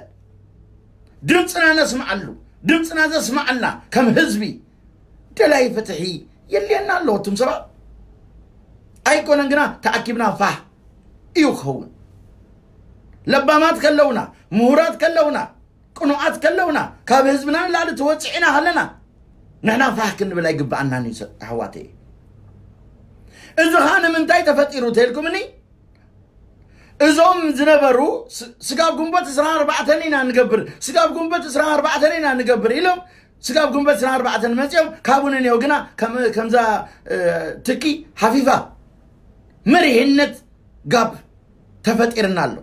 ድምፅና ነስምዓሉ፣ ድምፅና ዘስምዓልና ከም ህዝቢ ደላይ ፍትሒ የልየና ኣሎ። እቱም ሰባት ኣይኮነን ግና ተኣኪብና ፋህ እዩ ክኸውን። ለባማት ከለውና፣ ምሁራት ከለውና፣ ቅኑዓት ከለውና፣ ካብ ህዝብና ንላዕሊ ተወፅዒና ከለና ንሕና ፋህ ክንብል ኣይግብኣናን እዩ። ኣሕዋተይ፣ እዚ ኸዓ ንምንታይ ተፈጢሩ ተልኩምኒ? እዞም ዝነበሩ ስ- ስጋብ ግንቦት 24 ኢና ንገብር፣ ስጋብ ግንቦት 24 ኢና ንገብር ኢሎም፣ ስጋብ ግንቦት 24 መፂኦም ካብኡ ንኔው ግና ከም- ከምዛ እ፣ ትኪ ሓፊፋ መሪሕነት ጋፕ ተፈጢርና ኣሎ፣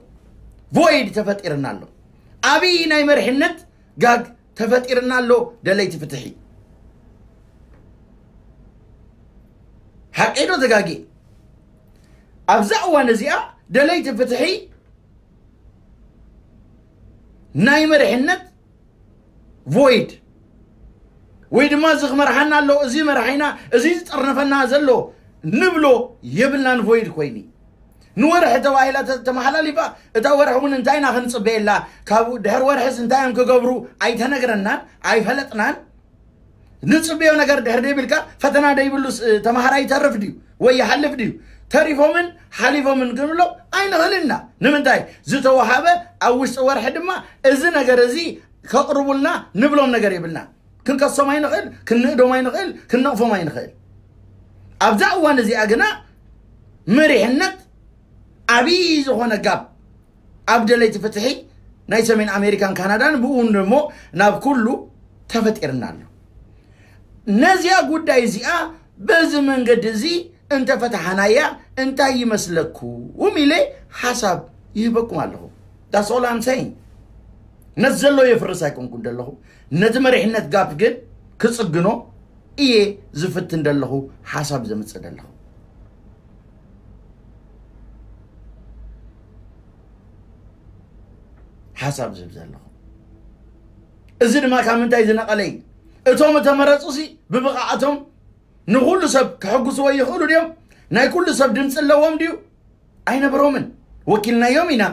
ቮይድ ተፈጢርና ኣሎ። ኣብይ ናይ መሪሕነት ጋግ ተፈጢርና ኣሎ። ደለይቲ ፍትሒ፣ ሓቂ ዶ ተጋጊ? ኣብዛ እዋን እዚኣ ደለይቲ ፍትሒ ናይ መሪሕነት ቮይድ ወይ ድማ እዚ ክመርሓና ኣሎ፣ እዚ መርሓይና፣ እዚ ዝጠርነፈና ዘሎ ንብሎ የብልናን። ቮይድ ኮይኒ ንወርሒ ተባሂላ ተ- ተመሓላሊፋ፣ እታ ወርሒ እውን እንታይ ኢና ክንፅበየላ፣ ካብ ድሕር ወርሕስ እንታይ እዮም ክገብሩ ኣይተነግረናን ኣይፈለጥናን። ንፅበዮ ነገር ድሕር ደይብልካ ፈተና ደይብሉስ እ፣ ተምሃራይ ይተርፍ ድዩ ወይ ይሓልፍ ድዩ? ተሪፎምን ሓሊፎምን ክንብሎ ኣይንኽእልን ኢና። ንምንታይ? ዝተወሃበ ኣብ ውሽጢ ወርሒ ድማ እዚ ነገር እዚ ከቕርቡልና ንብሎም ነገር የብልና። ክንከሶም ኣይንኽእል፣ ክንእዶም ኣይንኽእል፣ ክንነቕፎም ኣይንኽእል። ኣብዛ እዋን እዚኣ ግና መሪሕነት ዓብዪ ዝኾነ ጋብ ኣብ ደለይቲ ፍትሒ ናይ ሰሜን ኣሜሪካን ካናዳን ብእውን ደሞ ናብ ኩሉ ተፈጢርና ኣሎ። ነዚኣ ጉዳይ እዚኣ በዚ መንገዲ እዚ እንተፈትሓናያ እንታይ ይመስለኩም ኢለ ሓሳብ ይህበኩም ኣለኹ። That's all I'm saying። ነቲ ዘሎ የፍርስ ኣይኮንኩን ዘለኹ፣ ነቲ መሪሕነት ጋፕ ግን ክጽግኖ እየ ዝፍትን ዘለኹ፣ ሓሳብ ዘምጽእ ዘለኹ። ሓሳብ ዝህብ ዘለኹ። እዚ ድማ ካብ ምንታይ ዝነቐለ እዩ? እቶም እተመረፁ ሲ ብብቕዓቶም ንኹሉ ሰብ ከሐጉስዎ ይኽእሉ ድዮም? ናይ ኩሉ ሰብ ድምፂ ኣለዎም ድዩ? ኣይነበሮምን። ወኪልናዮም ኢና።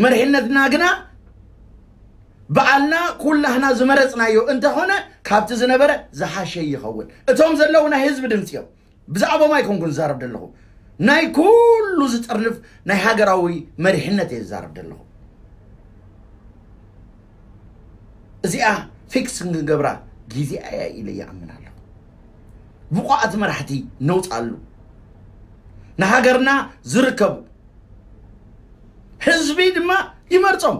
መሪሕነትና ግና በዓልና ኩላህና ዝመረፅናዮ እንተኾነ ካብቲ ዝነበረ ዝሓሸ ይኸውን። እቶም ዘለዉ ናይ ህዝቢ ድምፂ እዮም። ብዛዕባኦም ኣይኮንኩን ዝዛረብ ዘለኹ። ናይ ኩሉ ዝጥርንፍ ናይ ሃገራዊ መሪሕነት እየ ዝዛረብ ዘለኹ። እዚኣ ፊክስ ክንገብራ ግዜ እያ ኢለ ይኣምን ኣለኹ። ብቑዓት መራሕቲ ነውፃሉ። ንሃገርና ዝርከቡ ህዝቢ ድማ ይመርፆም።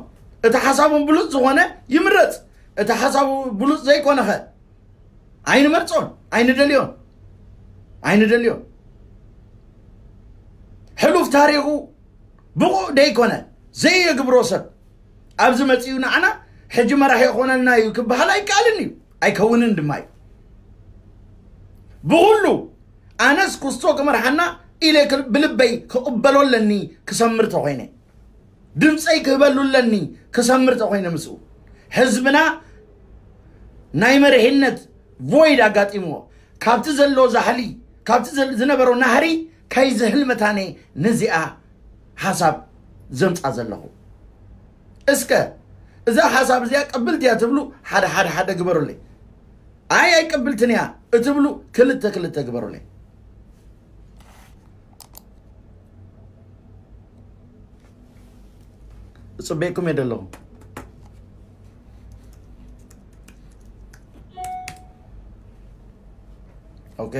እቲ ሓሳቦም ብሉፅ ዝኾነ ይምረፅ። እቲ ሓሳቡ ብሉፅ ዘይኮነኸ ኣይንመርፆን፣ ኣይንደልዮን፣ ኣይንደልዮን። ሕሉፍ ታሪኹ ብቑዕ ደይኮነ ዘየግብሮ ሰብ ኣብዚ መፂኡ ንዓና ሕጂ መራሒ ይኾነልና እዩ ክበሃል ኣይከኣልን እዩ፣ ኣይከውንን ድማ እዩ። ብኹሉ ኣነስ ኩስቶ ክመርሓና ኢለ ክል- ብልበይ ክቕበሎ ኣለኒ ክሰምር ተኾይነ። ድምፀይ ክህበሉ ኣለኒ ክሰምር ተኾይነ ምስኡ። ህዝብና ናይ መሪሕነት ቮይድ ኣጋጢምዎ፣ ካብቲ ዘሎ ዛሕሊ፣ ካብቲ ዘል- ዝነበሮ ናህሪ ከይዝህል መታነ ነዚኣ ሓሳብ ዘምፃ ዘለኹ። እስከ እዛ ሓሳብ እዚኣ ቅብልቲ እያ ትብሉ ሓደ ሓደ ሓደ ግበሩለይ። ኣይ ኣይቅብልትን እያ እትብሉ ክልተ ክልተ ግበሩለይ። ጽበየኩም እየ ዘለኹ። ኦኬ።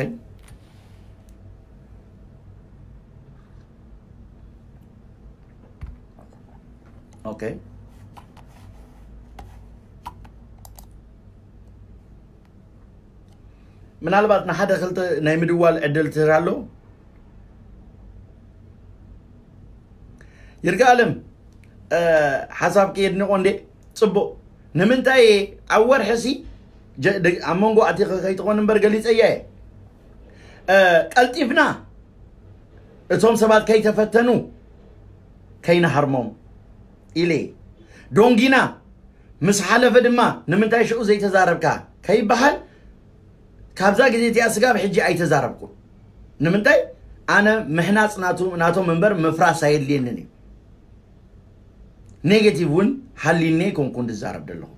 ኦኬ። ምናልባት ንሓደ ክልተ ናይ ምድዋል ዕድል ትህር ኣሎ። ይርጋ ኣለም፣ እ፣ ሓሳብኪ የድንቆ እንዴ? ጽቡቕ። ንምንታይ ኣብ ወርሒ ሲ ጀ-፣ ደ-፣ ኣብ መንጎ ኣቲኸ ከይትኾን እምበር ገሊጸያ እየ። እ፣ ቀልጢፍና እቶም ሰባት ከይተፈተኑ ከይንሃርሞም ኢለ እየ። ዶንጊና ምስ ሓለፈ ድማ ንምንታይ ሽዑ ዘይተዛረብካ ከይበሃል፣ ካብዛ ግዜ እቲኣ ስጋብ ሕጂ ኣይተዛረብኩን። ንምንታይ? ኣነ ምሕናጽ ናቱ-፣ ናቶም እምበር ምፍራስ ኣየድልየንን እዩ። ኔጌቲቭ እውን ሃሊኒ ኣይኮንኩን ዝዛረብ ዘለኹ።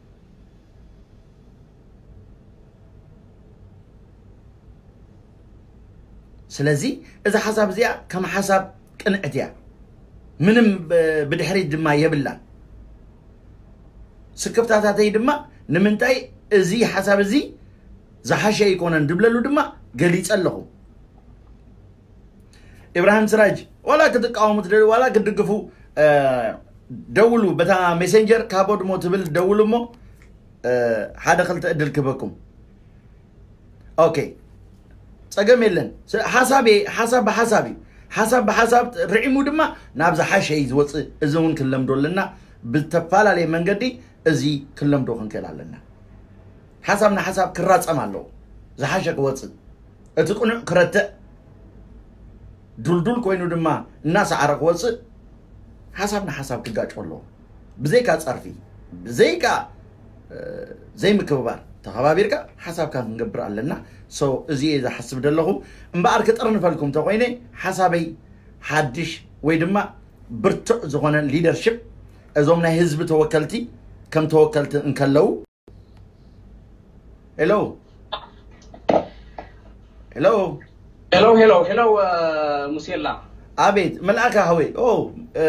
ስለዚ እዛ ሓሳብ እዚኣ ከም ሓሳብ ቅንዕቲ እያ። ምንም ብ-፣ ብድሕሪት ድማ የብላን። ስክፍታታተይ ድማ ንምንታይ እዚ ሓሳብ እዚ ዝሓሸ ኣይኮነን ድብለሉ ድማ ገሊጸ ኣለኹ። ኢብራሂም ስራጅ፣ ዋላ ክትቃወሙ ትደልዩ፣ ዋላ ክትድግፉ፣ እ፣ ደውሉ። በታ ሜሴንጀር ካብ ወድሞ ትብል ደውሉ እሞ፣ እ፣ ሓደ ክልተ ዕድል ክበኩም። ኦኬ፣ ጸገም የለን። ስ-፣ ሓሳብ እየ፣ ሓሳብ ብሓሳብ እዩ። ሓሳብ ብሓሳብ ርዒሙ ድማ ናብ ዝሓሸ እዩ ዝወጽእ። እዚ እውን ክንለምዶ ኣለና። ብዝተፈላለየ መንገዲ እዚ ክንለምዶ ክንክእል ኣለና። ሓሳብ ንሓሳብ ክራጸም ኣለዎ። ዝሓሸ ክወጽእ፣ እቲ ቅኑዕ ክረትዕ፣ ዱልዱል ኮይኑ ድማ እናሰዓረ ክወጽእ፣ ሓሳብ ንሓሳብ ክጋጮ ኣለዎ። ብዘይካ ጸርፊ፣ ብዘይካ፣ እ፣ ዘይምክብባር፣ ተኸባቢርካ ሓሳብካ ክንገብር ኣለና። ሶ፣ እዚ እየ ዝሓስብ ዘለኹ። እምበኣር ክጥርንፈልኩም እንተኾይነ፣ ሓሳበይ ሓድሽ ወይ ድማ ብርቱዕ ዝኾነ ሊደርሽፕ፣ እዞም ናይ ህዝቢ ተወከልቲ ከም ተወከልቲ እንከለዉ፣ ሄሎ፣ ሄሎ፣ ሄሎ፣ ሄሎ፣ ሄሎ፣ እ፣ ሙሴላ። ኣቤት፣ መልኣከ ሃወይ። ኦ፣ እ፣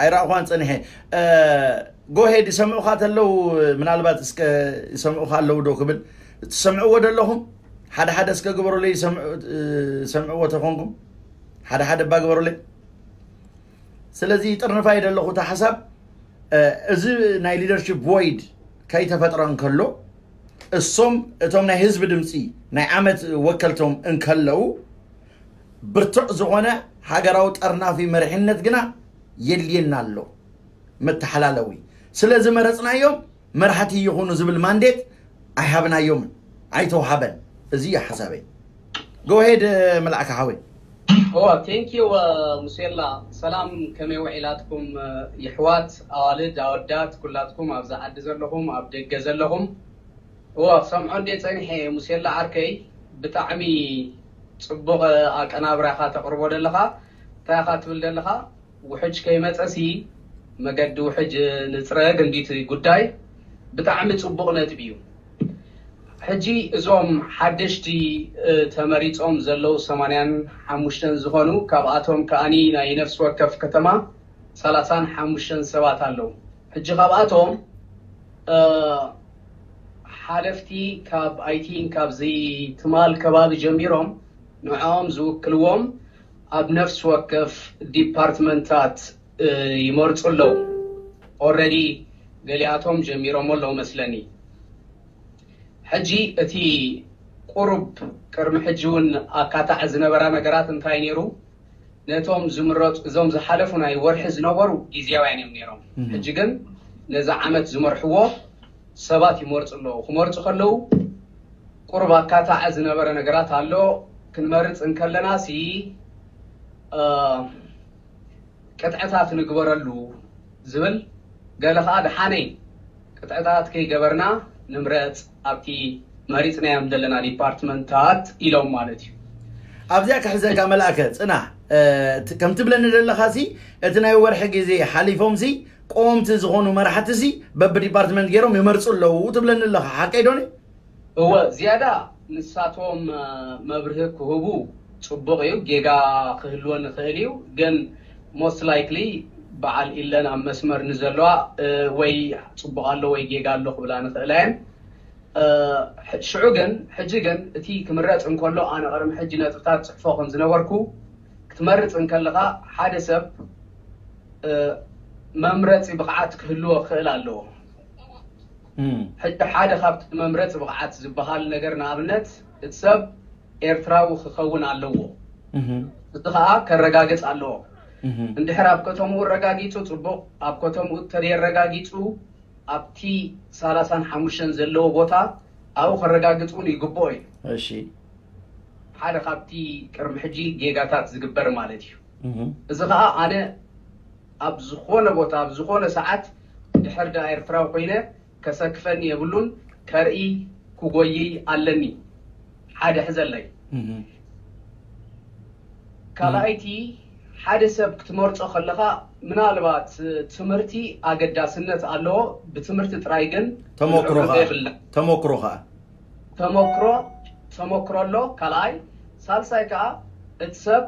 ኣይረኣኹዋን ጸኒሐ። እ፣ ጎሄድ ይሰምዑኻ ተለዉ፣ ምናልባት እስከ ይሰምዑኻ ኣለዉ ዶ ክብል፣ ትሰምዕዎ ዶ ኣለኹም? ሓደ ሓደ እስከ ግበሩለይ፣ ይሰምዑ-፣ እ፣ ይሰምዕዎ ተኾንኩም፣ ሓደ ሓደ እባ ግበሩለይ። ስለዚ ጥርንፋይ ዘለኹ እቲ ሓሳብ፣ እ፣ እዚ ናይ ሊደርሺፕ ቮይድ ከይተፈጥረ እንከሎ፣ እሶም እቶም ናይ ህዝቢ ድምፂ ናይ ዓመት ወከልቶም እንከለዉ፣ ብርቱዕ ዝኾነ ሃገራዊ ጠርናፊ መሪሕነት ግና የድልየና ኣሎ፣ መተሓላለዊ። ስለ ዝመረፅናዮም መራሕቲ ይኹኑ ዝብል ማንዴት ኣይሃብናዮምን፣ ኣይተውሃበን። እዚ እዩ ሓሳበይ። ጎሄድ፣ መልኣከ ሓወይ። ኦ፣ ቴንክ ዩ፣ እ፣ ሙሴላ። ሰላም፣ ከመይ ውዒላትኩም፣ እ፣ ይሕዋት፣ ኣዋልድ፣ ኣወዳት፣ ኩላትኩም ኣብዚ ዓዲ ዘለኹም፣ ኣብ ደገ ዘለኹም? ኦ፣ ክሰምዖ እንዴ ጸኒሐ፣ ሙሴላ ዓርከይ፣ ብጣዕሚ ጽቡቕ ኣቀናብራኻ ተቕርቦ ደለኻ። እንታይ ኢኻ ትብል ደለኻ? ውሕጅ ከይመጸሲ መገዲ ውሕጅ ንጽረግ እንዲቲ ጉዳይ። ብጣዕሚ ጽቡቕ ነጥቢ እዩ። ሕጂ እዞም ሓደሽቲ፣ እ፣ ተመሪጾም ዘለዉ ሰማንያን ሓሙሽተን ዝኾኑ፣ ካብኣቶም ከኣኒ ናይ ነፍሲ ወከፍ ከተማ ሰላሳን ሓሙሽተን ሰባት ኣለዉ። ሕጂ ካብኣቶም፣ እ፣ ሓለፍቲ ካብ፣ ኣይ ቲንክ፣ ካብዚ ትማል ከባቢ ጀሚሮም ንዕኦም ዝውክልዎም ኣብ ነፍሲ ወከፍ ዲፓርትመንታት፣ እ፣ ይመርጹ ኣለዉ። ኦልሬዲ ገሊኣቶም ጀሚሮሞ ኣለዉ መስለኒ። ሕጂ እቲ ቁሩብ ቅድሚ ሕጂ እውን ኣካታዕ ዝነበራ ነገራት እንታይ ነይሩ? ነቶም ዝምረጹ፣ እዞም ዝሓለፉ ናይ ወርሒ ዝነበሩ ግዝያውያን እዮም ነይሮም። እህ። ሕጂ ግን ነዚ ዓመት ዝመርሕዎ ሰባት ይመርጹ ኣለዉ። ክመርጹ ከለዉ ቁሩብ ኣካታዕ ዝነበረ ነገራት ኣሎ። ክንመርጽ እንከለና ሲ፣ እ፣ ቅጥዕታት ንግበረሉ ዝብል፣ ገለ ኸኣ ደሓነይ ቅጥዕታት ከይገበርና ንምረጽ ኣብቲ መሪጽናዮም ዘለና ዲፓርትመንታት ኢሎም ማለት እዩ። ኣብዚኣ ክሕዘካ መልኣከ፣ ጽናሕ። እ፣ ት-፣ ከም ትብለኒ ዘለኻ ሲ፣ እቲ ናይ ወርሒ ግዜ ሓሊፎም ሲ፣ ቀወምቲ ዝኾኑ መራሕቲ ሲ፣ በብዲፓርትመንት ገይሮም ይመርጹ ኣለዉ ትብለኒ ኣለኻ፣ ሓቀይ ዶኒ? እወ፣ ዝያዳ ንሳቶም፣ እ፣ መብርሂ ክህቡ ጽቡቕ እዩ። ጌጋ ክህልወን ይኽእል እዩ፣ ግን ሞስት ላይክሊ በዓል ኢለን ኣብ መስመር ንዘለዋ ወይ ፅቡቕ ኣሎ ወይ ጌጋ ኣሎ ክብላ ንኽእላ እየን። ሽዑ ግን ሕጂ ግን እቲ ክምረፅ እንከሎ ኣነ ቅድሚ ሕጂ ነጥብታት ፅሕፎ ከም ዝነበርኩ ክትመርፅ እንከለኻ ሓደ ሰብ መምረፂ ብቕዓት ክህልዎ ክኽእል ኣለዎ። ሕጂ ሓደ ካብቲ መምረፂ ብቕዓት ዝበሃል ነገር ንኣብነት እቲ ሰብ ኤርትራዊ ክኸውን ኣለዎ። እዚ ከዓ ከረጋግፅ ኣለዎ። እንድሕር ኣብ ከተምኡ ኣረጋጊፁ ፅቡቕ፣ ኣብ ከተምኡ ተደየረጋጊፁ ኣብቲ ሰላሳን ሓሙሽተን ዘለዎ ቦታ ኣብኡ ከረጋግፅ እውን ይግብኦ እዩ። እሺ። ሓደ ካብቲ ቅድሚ ሕጂ ጌጋታት ዝግበር ማለት እዩ። እዚ ከዓ ኣነ ኣብ ዝኾነ ቦታ ኣብ ዝኾነ ሰዓት ድሕር ደኣ ኤርትራዊ ኮይነ ከሰክፈኒ የብሉን፣ ከርኢ ክጎይይ ኣለኒ። ሓደ ሕዘለይ። ካልኣይቲ ሓደ ሰብ ክትመርጾ ከለኻ ምናልባት ትምህርቲ ኣገዳስነት ኣለዎ። ብትምህርቲ ጥራይ ግን ተመክሮ ከኣ የብልና። ተመክሮ ከኣ ተመክሮ ተመክሮ ኣሎ። ካልኣይ ሳልሳይ ከኣ እቲ ሰብ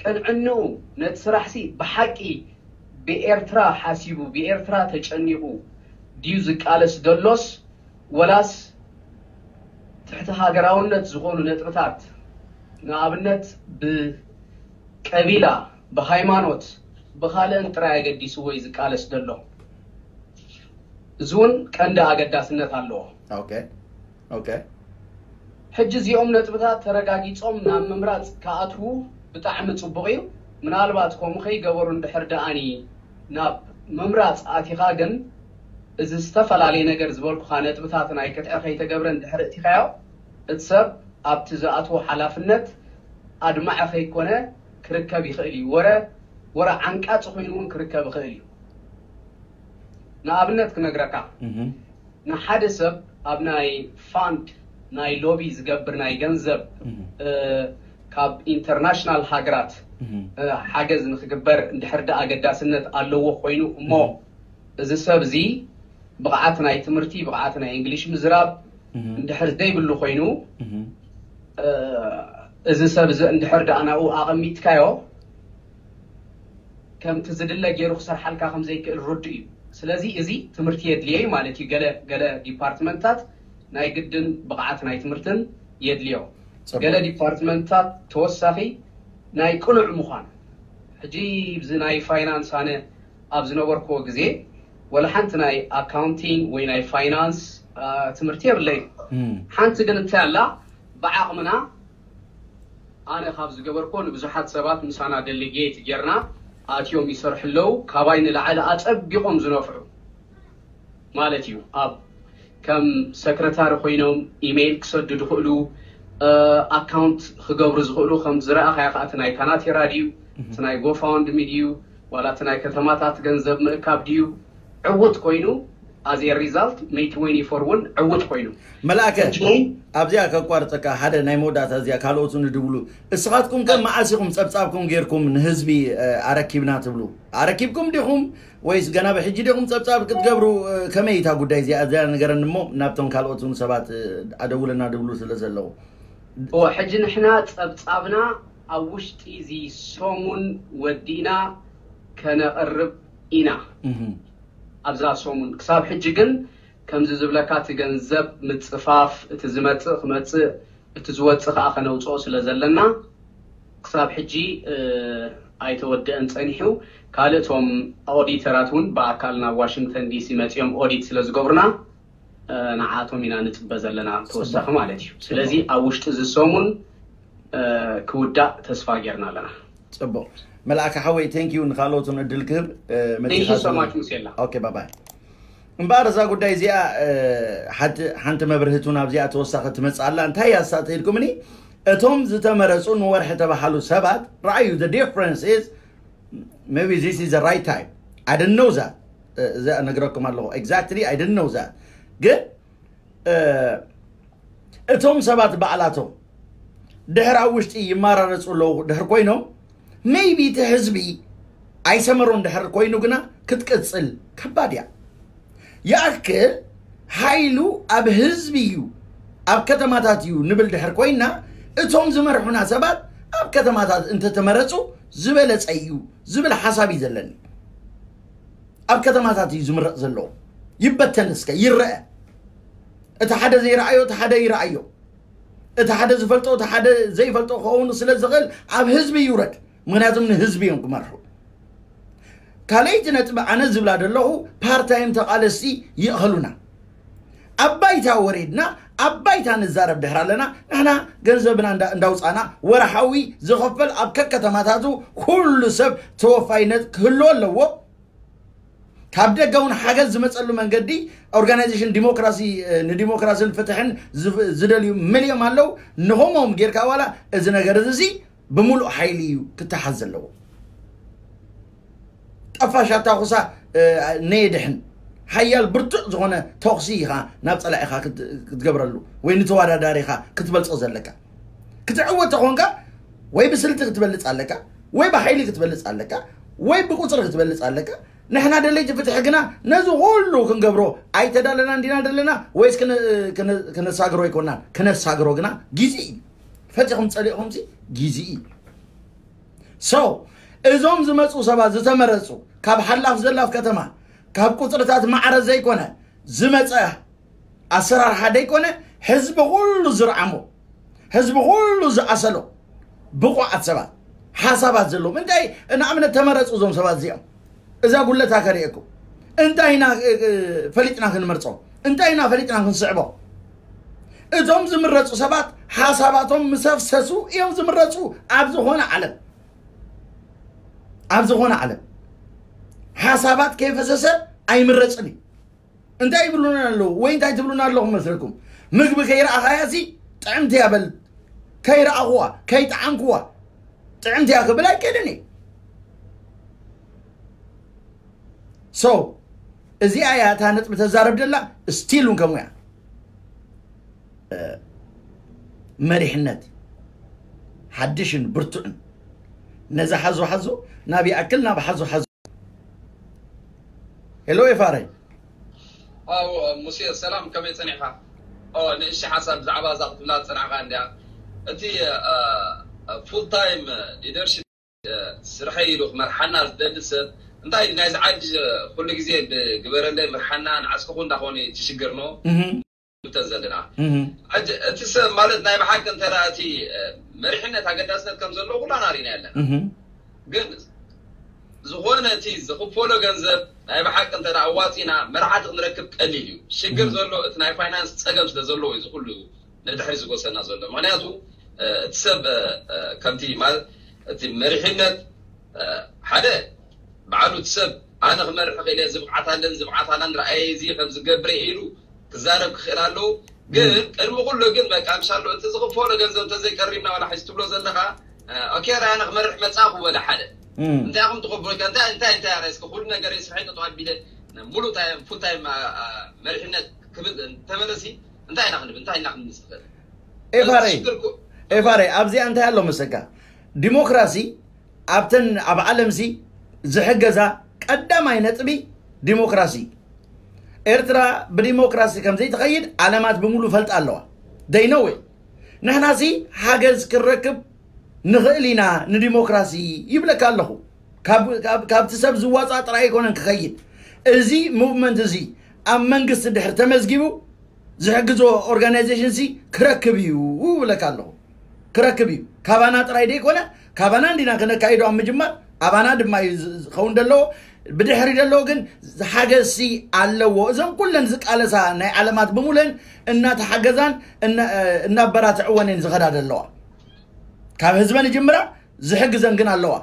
ቅንዕንኡ ነቲ ስራሕሲ ብሓቂ ብኤርትራ ሓሲቡ ብኤርትራ ተጨኒቑ ድዩ ዝቃለስ ደሎስ ወላስ ትሕቲ ሃገራውነት ዝኾኑ ነጥብታት ንኣብነት ብቀቢላ ብሃይማኖት ብኻልእን ጥራይ ኣገዲስዎ እዩ ዝቃለስ ዘሎ። እዚ እውን ቀንዲ ኣገዳስነት ኣለዎ። ኦኬ ኦኬ። ሕጂ እዚኦም ነጥብታት ተረጋጊጾም ናብ ምምራጽ ክኣትዉ ብጣዕሚ ጽቡቕ እዩ። ምናልባት ከምኡ ከይገበሩ እንድሕር ደኣኒ ናብ ምምራጽ ኣቲኻ ግን እዚ ዝተፈላለየ ነገር ዝበልኩኻ ነጥብታት ናይ ክትዕ ከይተገብረ እንድሕር እቲኻዮ እቲ ሰብ ኣብቲ ዝኣትዎ ሓላፍነት ኣድማዒ ከይኮነ ክርከብ ይኽእል እዩ። ወረ ወረ ዓንቃጺ ኮይኑ እውን ክርከብ ይኽእል እዩ። ንኣብነት ክነግረካ ንሓደ ሰብ ኣብ ናይ ፋንድ ናይ ሎቢ ዝገብር ናይ ገንዘብ ካብ ኢንተርናሽናል ሃገራት ሓገዝ ንክግበር እንድሕር ዳ ኣገዳስነት ኣለዎ ኮይኑ እሞ እዚ ሰብ እዚ ብቕዓት ናይ ትምህርቲ ብቕዓት ናይ እንግሊሽ ምዝራብ እንድሕር ዘይብሉ ኮይኑ እዚ ሰብ እዚ እንድሕር ዳ ናብኡ ኣቐሚጥካዮ ከምቲ ዝድለ ገይሩ ክሰርሓልካ ከም ዘይክእል ርዱእ እዩ። ስለዚ እዚ ትምህርቲ የድልዮ እዩ ማለት እዩ። ገለ ገለ ዲፓርትመንታት ናይ ግድን ብቕዓት ናይ ትምህርትን የድልዮ። ገለ ዲፓርትመንታት ተወሳኺ ናይ ቅኑዕ ምዃን። ሕጂ ብዚ ናይ ፋይናንስ ኣነ ኣብ ዝነበርክዎ ግዜ ወላ ሓንቲ ናይ ኣካውንቲንግ ወይ ናይ ፋይናንስ ትምህርቲ የብለይ። ሓንቲ ግን እንታይ ኣላ ብዓቕምና ኣነ ካብ ዝገበርኮ ንብዙሓት ሰባት ምሳና ደሊጌት ጌርና ኣትዮም ይሰርሑ ኣለዉ። ካባይ ንላዕሊ ኣጸቢቖም ዝነፍዑ ማለት እዩ። ኣብ ከም ሰክረታሪ ኮይኖም ኢሜይል ክሰዱ ዝኽእሉ ኣካውንት ክገብሩ ዝኽእሉ ከም ዝረኣኻዮ ከዓ እቲ ናይ ካናቴራ ድዩ እቲ ናይ ጎፋውንድሚ ድዩ ዋላ እቲ ናይ ከተማታት ገንዘብ ምእካብ ድዩ ዕውት ኮይኑ ኣዜ ሪዛልት ሜይ ትወንቲ ፎር እውን ዕውት ኮይኑ መልኣከ ኣብዚኣ ከቋርፀካ ሓደ ናይ መወዳእታ እዚኣ ካልኦት ንድብሉ እስኻትኩም ከ መዓስ ኢኹም ፀብፃብኩም ጌርኩም ንህዝቢ ኣረኪብና ትብሉ ኣረኪብኩም ዲኹም ወይስ ገና ብሕጂ ዲኹም ፀብፃብ ክትገብሩ ከመይ እታ ጉዳይ እዚኣ እዚኣ ነገረኒ እሞ ናብቶም ካልኦት እውን ሰባት ኣደውለና ድብሉ ስለ ዘለዉ እወ ሕጂ ንሕና ፀብፃብና ኣብ ውሽጢ እዚ ሰሙን ወዲእና ከነቕርብ ኢና ኣብዛ ሰሙን ክሳብ ሕጂ ግን ከምዚ ዝብለካ እቲ ገንዘብ ምፅፋፍ እቲ ዝመፅእ ክመፅእ እቲ ዝወፅእ ከዓ ከነውፅኦ ስለ ዘለና ክሳብ ሕጂ ኣይተወደአን ፀኒሑ ካልእ እቶም ኦዲተራት እውን ብኣካል ናብ ዋሽንግተን ዲሲ መፂኦም ኦዲት ስለ ዝገብሩና ንዓቶም ኢና ንፅበ ዘለና ተወሳኺ ማለት እዩ ስለዚ ኣብ ውሽጢ እዚ ሰሙን ክውዳእ ተስፋ ጌርና ኣለና ፅቡቅ መልኣከ ሓወይ ቴንኪዩ ንካልኦትን እድል ክህብ መፂኻሶማች ሙሴላ ኦኬ ባባይ እምበኣር እዛ ጉዳይ እዚኣ ሓንቲ መብርህቱን ኣብዚኣ ተወሳኺ ትመፅእ ኣላ እንታይ እያ ሳተ ኢልኩምኒ እቶም ዝተመረፁ ንወርሒ ተባሃሉ ሰባት ረኣዩ the difference is maybe this is the right time I didn't know that እዛ ነግረኩም ኣለኹ exactly I didn't know that ግን እቶም ሰባት ባዕላቶም ድሕር ኣብ ውሽጢ ይመራረፁ ኣለዉ ድሕር ኮይኖም maybe እቲ ህዝቢ ኣይሰመሮን ድሕር ኮይኑ ግና ክትቅፅል ከባድ እያ ይኣክል ሓይሉ ኣብ ህዝቢ እዩ ኣብ ከተማታት እዩ ንብል ድሕር ኮይና እቶም ዝመርሑና ሰባት ኣብ ከተማታት እንተተመረፁ ዝበለፀ እዩ ዝብል ሓሳብ እዩ ዘለኒ ኣብ ከተማታት እዩ ዝምረፅ ዘለዎ። ይበተን እስከ ይረአ። እቲ ሓደ ዘይረኣዮ እቲ ሓደ ይረኣዮ። እቲ ሓደ ዝፈልጦ እቲ ሓደ ዘይፈልጦ ክኸውን ስለ ዝኽእል ኣብ ህዝቢ ይውረድ። ምክንያቱም ንህዝቢ እዮም ክመርሑ። ካልኣይቲ ነጥቢ ኣነ ዝብላ ዘለኹ ፓርታይም ተቓለስቲ ይእኸሉና። ኣብ ባይታ ወሪድና ኣብ ባይታ ንዛረብ ድሕር ኣለና። ንሕና ገንዘብና እንዳ- እንዳውፃና ወርሓዊ ዝኸፈል ኣብ ከከተማታቱ ኩሉ ሰብ ተወፋይነት ክህልዎ ኣለዎ። ካብ ደገ እውን ሓገዝ ዝመፀሉ መንገዲ ኦርጋናይዜሽን ዲሞክራሲ ንዲሞክራሲን ፍትሕን ዝደልዩ መሊኦም ኣለዉ። ንኸምኦም ጌርካ ዋላ እዚ ነገር እዚ ብምሉእ ሓይሊ እዩ ክተሓዝ ዘለዎ። ጠፋሻ ታኹሳ ነየድሕን ሓያል ብርቱዕ ዝኾነ ተኹሲ ኢኻ ናብ ፀላኢኻ ክትገብረሉ ወይ ንተወዳዳሪኻ ክትበልፆ ዘለካ ክትዕወት ተኾንካ ወይ ብስልቲ ክትበልፅ ኣለካ ወይ ብሓይሊ ክትበልፅ ኣለካ ወይ ብቁፅሪ ክትበልፅ ኣለካ። ንሕና ደለይቲ ፍትሒ ግና ነዚ ኩሉ ክንገብሮ ኣይተዳለናን ዲና ደለና ወይስ ክነሳግሮ ኣይኮናን? ክነሳግሮ ግና ግዜ እዩ። ፈቲኹም ፀሊእኹምሲ ግዜ እዩ። So እዞም ዝመፁ ሰባት ዝተመረፁ ካብ ሓላፍ ዘላፍ ከተማ ካብ ቁፅርታት ማዕረ ዘይኮነ ዝመፀ ኣሰራርሓ ደይኮነ ህዝቢ ኩሉ ዝርዓሞ ህዝቢ ኩሉ ዝኣሰሎ ብቑዓት ሰባት ሓሳባት ዘለዎም እንታይ ንኣብነት ተመረፁ እዞም ሰባት እዚኦም እዛ ጉለታ ከርእየኩም እንታይ ኢና ፈሊጥና ክንመርፆ እንታይ ኢና ፈሊጥና ክንስዕቦ እቶም ዝምረፁ ሰባት ሓሳባቶም ምሰፍሰሱ እዮም ዝምረፁ ኣብ ዝኾነ ዓለም ኣብ ዝኾነ ዓለም ሓሳባት ከይፈሰሰ ኣይምረፅን እዩ እንታይ ይብሉና ኣለዉ ወይ እንታይ ትብሉና ኣለኹም መስለኩም ምግቢ ከይረኣኻያ ሲ ጥዕምቲ እያ በል ከይረኣኹዋ ከይጠዓምኩዋ ጥዕምቲ እያ ክብል ኣይክእልን እዩ so እዚኣ እያ እታ ነጥቢ ተዛረብ ደላ ስቲል እውን ከምኡ እያ መሪሕነት ሓድሽን ብርቱዕን ነዚ ሓዞ ሓዞ ናብ ይኣክል ናብ ሓዞ ሓዞ ሄሎ ኤፋረይ ኣው ሙሴ ሰላም ከመይ ጸኒሕካ ኦ ንእሽቲ ሓሳብ ብዛዕባ እዛ ክትብላ ዝጸናሕካ እንዲያ እቲ full time leadership ስርሐይ ኢሉ ክመርሓና ዝደሊ ሰብ እንታይ ናይዚ ዓዲ ኩሉ ግዜ ብግበረለይ ምርሓና ንዓስክኹ እንዳኾነ ትሽግር ነው ብተ ዘለና እቲ ሰብ ማለት ናይ ብሓቂ እንተ እቲ መሪሕነት ኣገዳስነት ከም ዘለዎ ኩላና ሪና ኣለና ግን ዝኾነ እቲ ዝኽፈሎ ገንዘብ ናይ ብሓቂ እንተ ኣዋፂና መርሓቲ ክንረክብ ቀሊል እዩ ሽግር ዘሎ እቲ ናይ ፋይናንስ ፀገም ስለ ዘለዎ እዩ ዝኩሉ ንድሕሪ ዝጎሰና ዘሎ ምክንያቱ እቲ ሰብ ከምቲ ማለት እቲ መሪሕነት ሓደ ባዕሉ እቲ ሰብ ኣነ ክመርሕ ክእል ዝብዓት ኣለን ዝብዓት ኣለን ረኣየ እዚ ከም ዝገብረ ኢሉ ክዛረብ ክኽእል ኣለዎ ግን ቅድሚ ኩሉ ግን በቃ ምሻሎ እቲ ዝኽፈሎ ገንዘብ እንተዘይቀሪብና ዋላ ሕዚ ትብሎ ዘለኻ ኦኬ ራያና ክመርሕ መጻእኹ በለ ሓደ እንታይ ኢኹም ትኸብሩ እንታይ እንታይ እንታይ ራይ እስከ ኩሉ ነገር ስርሐይ ጠጠው ኣቢለ ሙሉ ታይም ፉል ታይም መሪሕነት ክብል እንተበለሲ እንታይ ኢና ክንብል እንታይ ኢና ክንብል ንኽእል ኤፋሬ ኤፋሬ ኣብዚኣ እንታይ ኣሎ መሰካ ዲሞክራሲ ኣብተን ኣብ ዓለምሲ ዝሕገዛ ቀዳማይ ነጥቢ ዲሞክራሲ ኤርትራ ብዲሞክራሲ ከም ዘይትኸይድ ዓለማት ብምሉ ፈልጣ ኣለዋ ደይነወ ንሕናሲ ሓገዝ ክንረክብ ንኽእል ኢና ንዲሞክራሲ ይብለካ ኣለኹ ካብቲ ሰብ ዝዋፃእ ጥራይ ኣይኮነን ክኸይድ እዚ ሙቭመንት እዚ ኣብ መንግስቲ ድሕር ተመዝጊቡ ዝሕግዞ ኦርጋናይዜሽን ሲ ክረክብ እዩ ይብለካ ኣለኹ ክረክብ እዩ ካባና ጥራይ ደይኮነ ካባና እንዲና ክነካይዶ ኣብ ምጅማር ኣባና ድማ እዩ ዝኸውን ዘለዎ ብድሕሪ ዘለዎ ግን ሓገዝሲ ኣለዎ እዞም ኩለን ዝቃለሳ ናይ ዓለማት ብምለን እናተሓገዛን እናበራትዕወን እየን ዝኸዳ ዘለዋ ካብ ህዝበን ይጅምራ ዝሕግዘን ግን ኣለዋ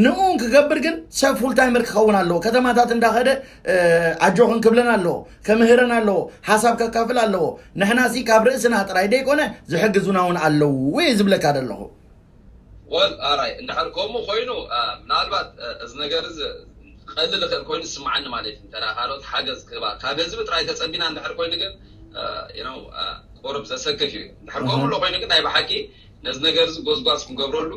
ንኡ ክገብር ግን ሰብ ፉል ታይመር ክኸውን ኣለዎ ከተማታት እንዳኸደ ኣጆኽን ክብለን ኣለዎ ከምህረን ኣለዎ ሓሳብ ከካፍል ኣለዎ ንሕና ሲ ካብ ርእስና ጥራይ ደይኮነ ዝሕግዙና እውን ኣለዉ እየ ዝብለካ ዘለኹ ወል ኣራይ እንድሕር ከምኡ ኮይኑ ምናልባት እዚ ነገር እዚ ቀልል ይኽእል ኮይኑ ዝስምዓኒ ማለት እዩ እንተ ካልኦት ሓገዝ ክህባ ካብ ህዝቢ ጥራይ ተፀቢና እንድሕር ኮይኑ ግን ቁሩብ ዘሰክፍ እዩ እንድሕር ከምኡ ኣሎ ኮይኑ ግን ናይ ብሓቂ ነዚ ነገር እዚ ጎዝጓዝ ክንገብረሉ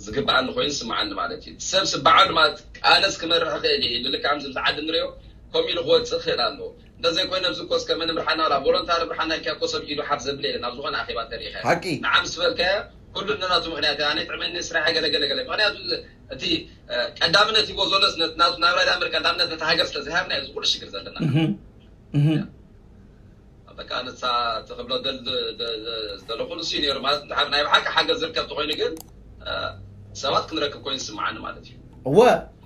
ዝግብኣኒ ኮይኑ ዝስምዓኒ ማለት እዩ ሰብ ስበዓሉ ማለት ቃለስ ክመርሕ ክእል እዩ ብልክዕ ከምዚ ዓዲ ንሪኦ ከምኡ ኢሉ ክወፅእ ክእል ኣለዎ እንተዘይኮይነ ኣብዚ ኮስ ከመ ንምርሓና ላ ቮሎንታሪ ምርሓና ኢልካ ኮ ሰብ ኢዱ ሓፍ ዘብል የለን ኣብ ዝኾነ ኣኼባ እንተሪኢኻ ሓቂ ንዓ ምስ በልካዮ ኩሉ ነናቱ ምክንያት ኣነ ጥዕመኒ ስራሕ ገለ ገለ ገለ ምክንያቱ እቲ ቀዳምነት ሂቦ ዘሎስ ናቱ ናብራ ዳምር ቀዳምነት ነቲ ሃገር ስለ ዝሃብና እዚ ኩሉ ሽግር ዘለና በቃ ንሳ ትኽብሎ ዘለኹ ንሱ ነሩ ማለት እንድሓር ናይ ብሓቂ ሓገዝ ዝርከብ ተኮይኑ ግን ሰባት ክንረክብ ኮይኑ ዝስምዓኒ ማለት እዩ። እወ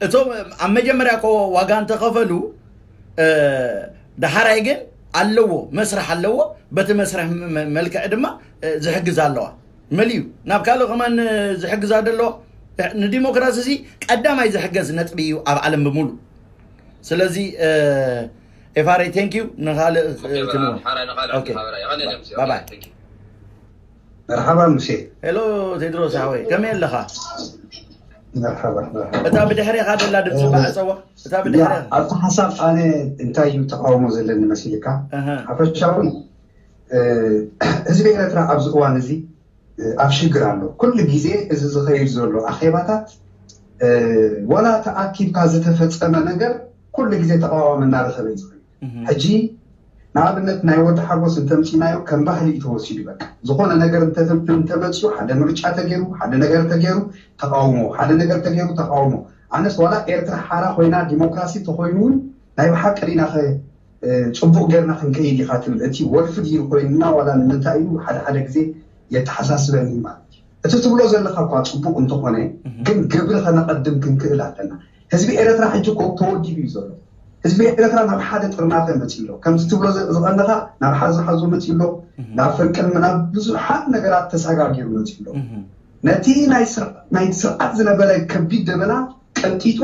እቶም ኣብ መጀመርያ ኮ ዋጋ እንተኸፈሉ ደሓራይ ግን ኣለዎ መስርሕ ኣለዎ። በቲ መስርሕ መልክዕ ድማ ዝሕግዝ ኣለዋ መሊዩ ናብ ካልእ ከማን ዝሕግዛ ደለዋ። ንዲሞክራሲ እዚ ቀዳማይ ዝሕገዝ ነጥቢ እዩ ኣብ ዓለም ብምሉ። ስለዚ ኤፋሬ ቴንኪዩ ንካልእ ትንወ ሓራይ ንኻልእ ሓራይ ይቐንየልና ምስዮ። ባባይ Thank you። መርሓባ ሙሴ። ሄሎ ቴድሮስ ሓወይ ከመይ ኣለኻ? መርሓባ መርሓባ። እታ ብድሕሬኻ ደላ ድምፂ ባዕፀዋ እታ ብድሕሬ ኣብቲ ሓሳብ ኣነ እንታይ እዩ ተቃውሞ ዘለኒ መሲልካ? ኣሃ። ሓፈሻዊ እ፣ ህዝቢ ኤረትራ ኣብዚ እዋን እዚ እ፣ ኣብ ሽግር ኣሎ። ኩሉ ግዜ እዚ ዝኸይድ ዘሎ ኣኼባታት እ፣ ዋላ ተኣኪብካ ዝተፈጸመ ነገር ኩሉ ግዜ ተቃዋሚ እናረኸበ እዩ ዝኸይድ። ሕጂ ንኣብነት ናይ ወዲ ሓጎስ እንተምፂናዮ ከም ባህሊ እዩ ተወሲዱ። በቃ ዝኾነ ነገር እንተመፅኡ ሓደ ምርጫ ተገይሩ ሓደ ነገር ተገይሩ ተቃውሞ ሓደ ነገር ተገይሩ ተቃውሞ። ኣነስ ዋላ ኤርትራ ሓራ ኮይና ዲሞክራሲ ተኮይኑ እውን ናይ ብሓቂ ዲና ከ ፅቡቅ ገርና ክንከይድ ኢካ ትብል እቲ ወልፊ ድዩ ኮይንና ዋላ ንምንታይ እዩ ሓደ ሓደ ግዜ የተሓሳስበኒ ማለት እዩ። እቲ ትብሎ ዘለካ እኳ ፅቡቅ እንተኾነ ግን ግብሪ ከነቀድም ክንክእል ኣለና። ህዝቢ ኤረትራ ሕጂ እኮ ተወዲቡ እዩ ዘሎ። ህዝቢ ኤረትራ ናብ ሓደ ጥርናፈ መፂ ኣሎ ከምዚ ትብሎ ዝቀነካ ናብ ሓዞ ሓዞ መፂ ኣሎ። ናብ ፈንቅል ናብ ብዙሓት ነገራት ተሳጋጊሩ መፂ ኣሎ። ነቲ ናይ ስርዓት ዝነበረ ከቢድ ደበና ቀንጢጡ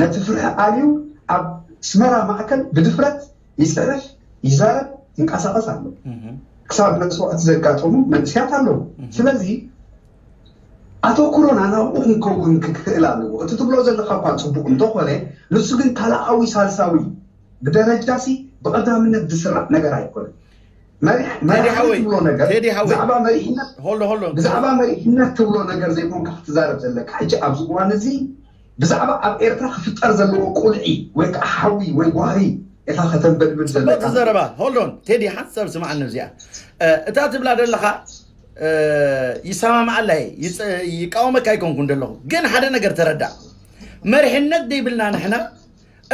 ነቲ ፍርሒ ኣልዩ ኣብ ኣስመራ ማእከል ብድፍረት ይፅሕፍ ይዛረብ ይንቀሳቀስ ኣሎ። ክሳብ መስዋእቲ ዘጋጠሙ መንእስያት ኣለዉ። ስለዚ ኣተኩሮና ናብኡ ክንከውን ክክእል ኣለዎ። እቲ ትብሎ ዘለካ እኳ ፅቡቅ እንተኾነ ንሱ ግን ካልኣዊ ሳልሳዊ ብደረጃ ሲ ብቀዳምነት ዝስራዕ ነገር ኣይኮነን። መሪሕ መሪሕ ሓወይ፣ ትብሎ ነገር ቴዲ ሓወይ። ብዛዕባ መሪሕነት ሆሎ ሆሎ ብዛዕባ መሪሕነት ትብሎ ነገር ዘይኮንካ ክትዛረብ ዘለካ ሕጂ ኣብዚ እዋን እዚ ብዛዕባ ኣብ ኤርትራ ክፍጠር ዘለዎ ቁልዒ ወይ ከዓ ሓዊ ወይ ጓሂ ኢኻ ከተንበድብድ ጽቡቅ ዘለካ። ዘረባ ሆሎን ቴዲ ሓንሳብ ስማዓኒ እዚኣ እታ ትብላ ዘለኻ ይሰማማዓላ ይቃወመካ ኣይኮንኩን ዘለኹ ግን ሓደ ነገር ተረዳእ መርሕነት ደይብልና ንሕና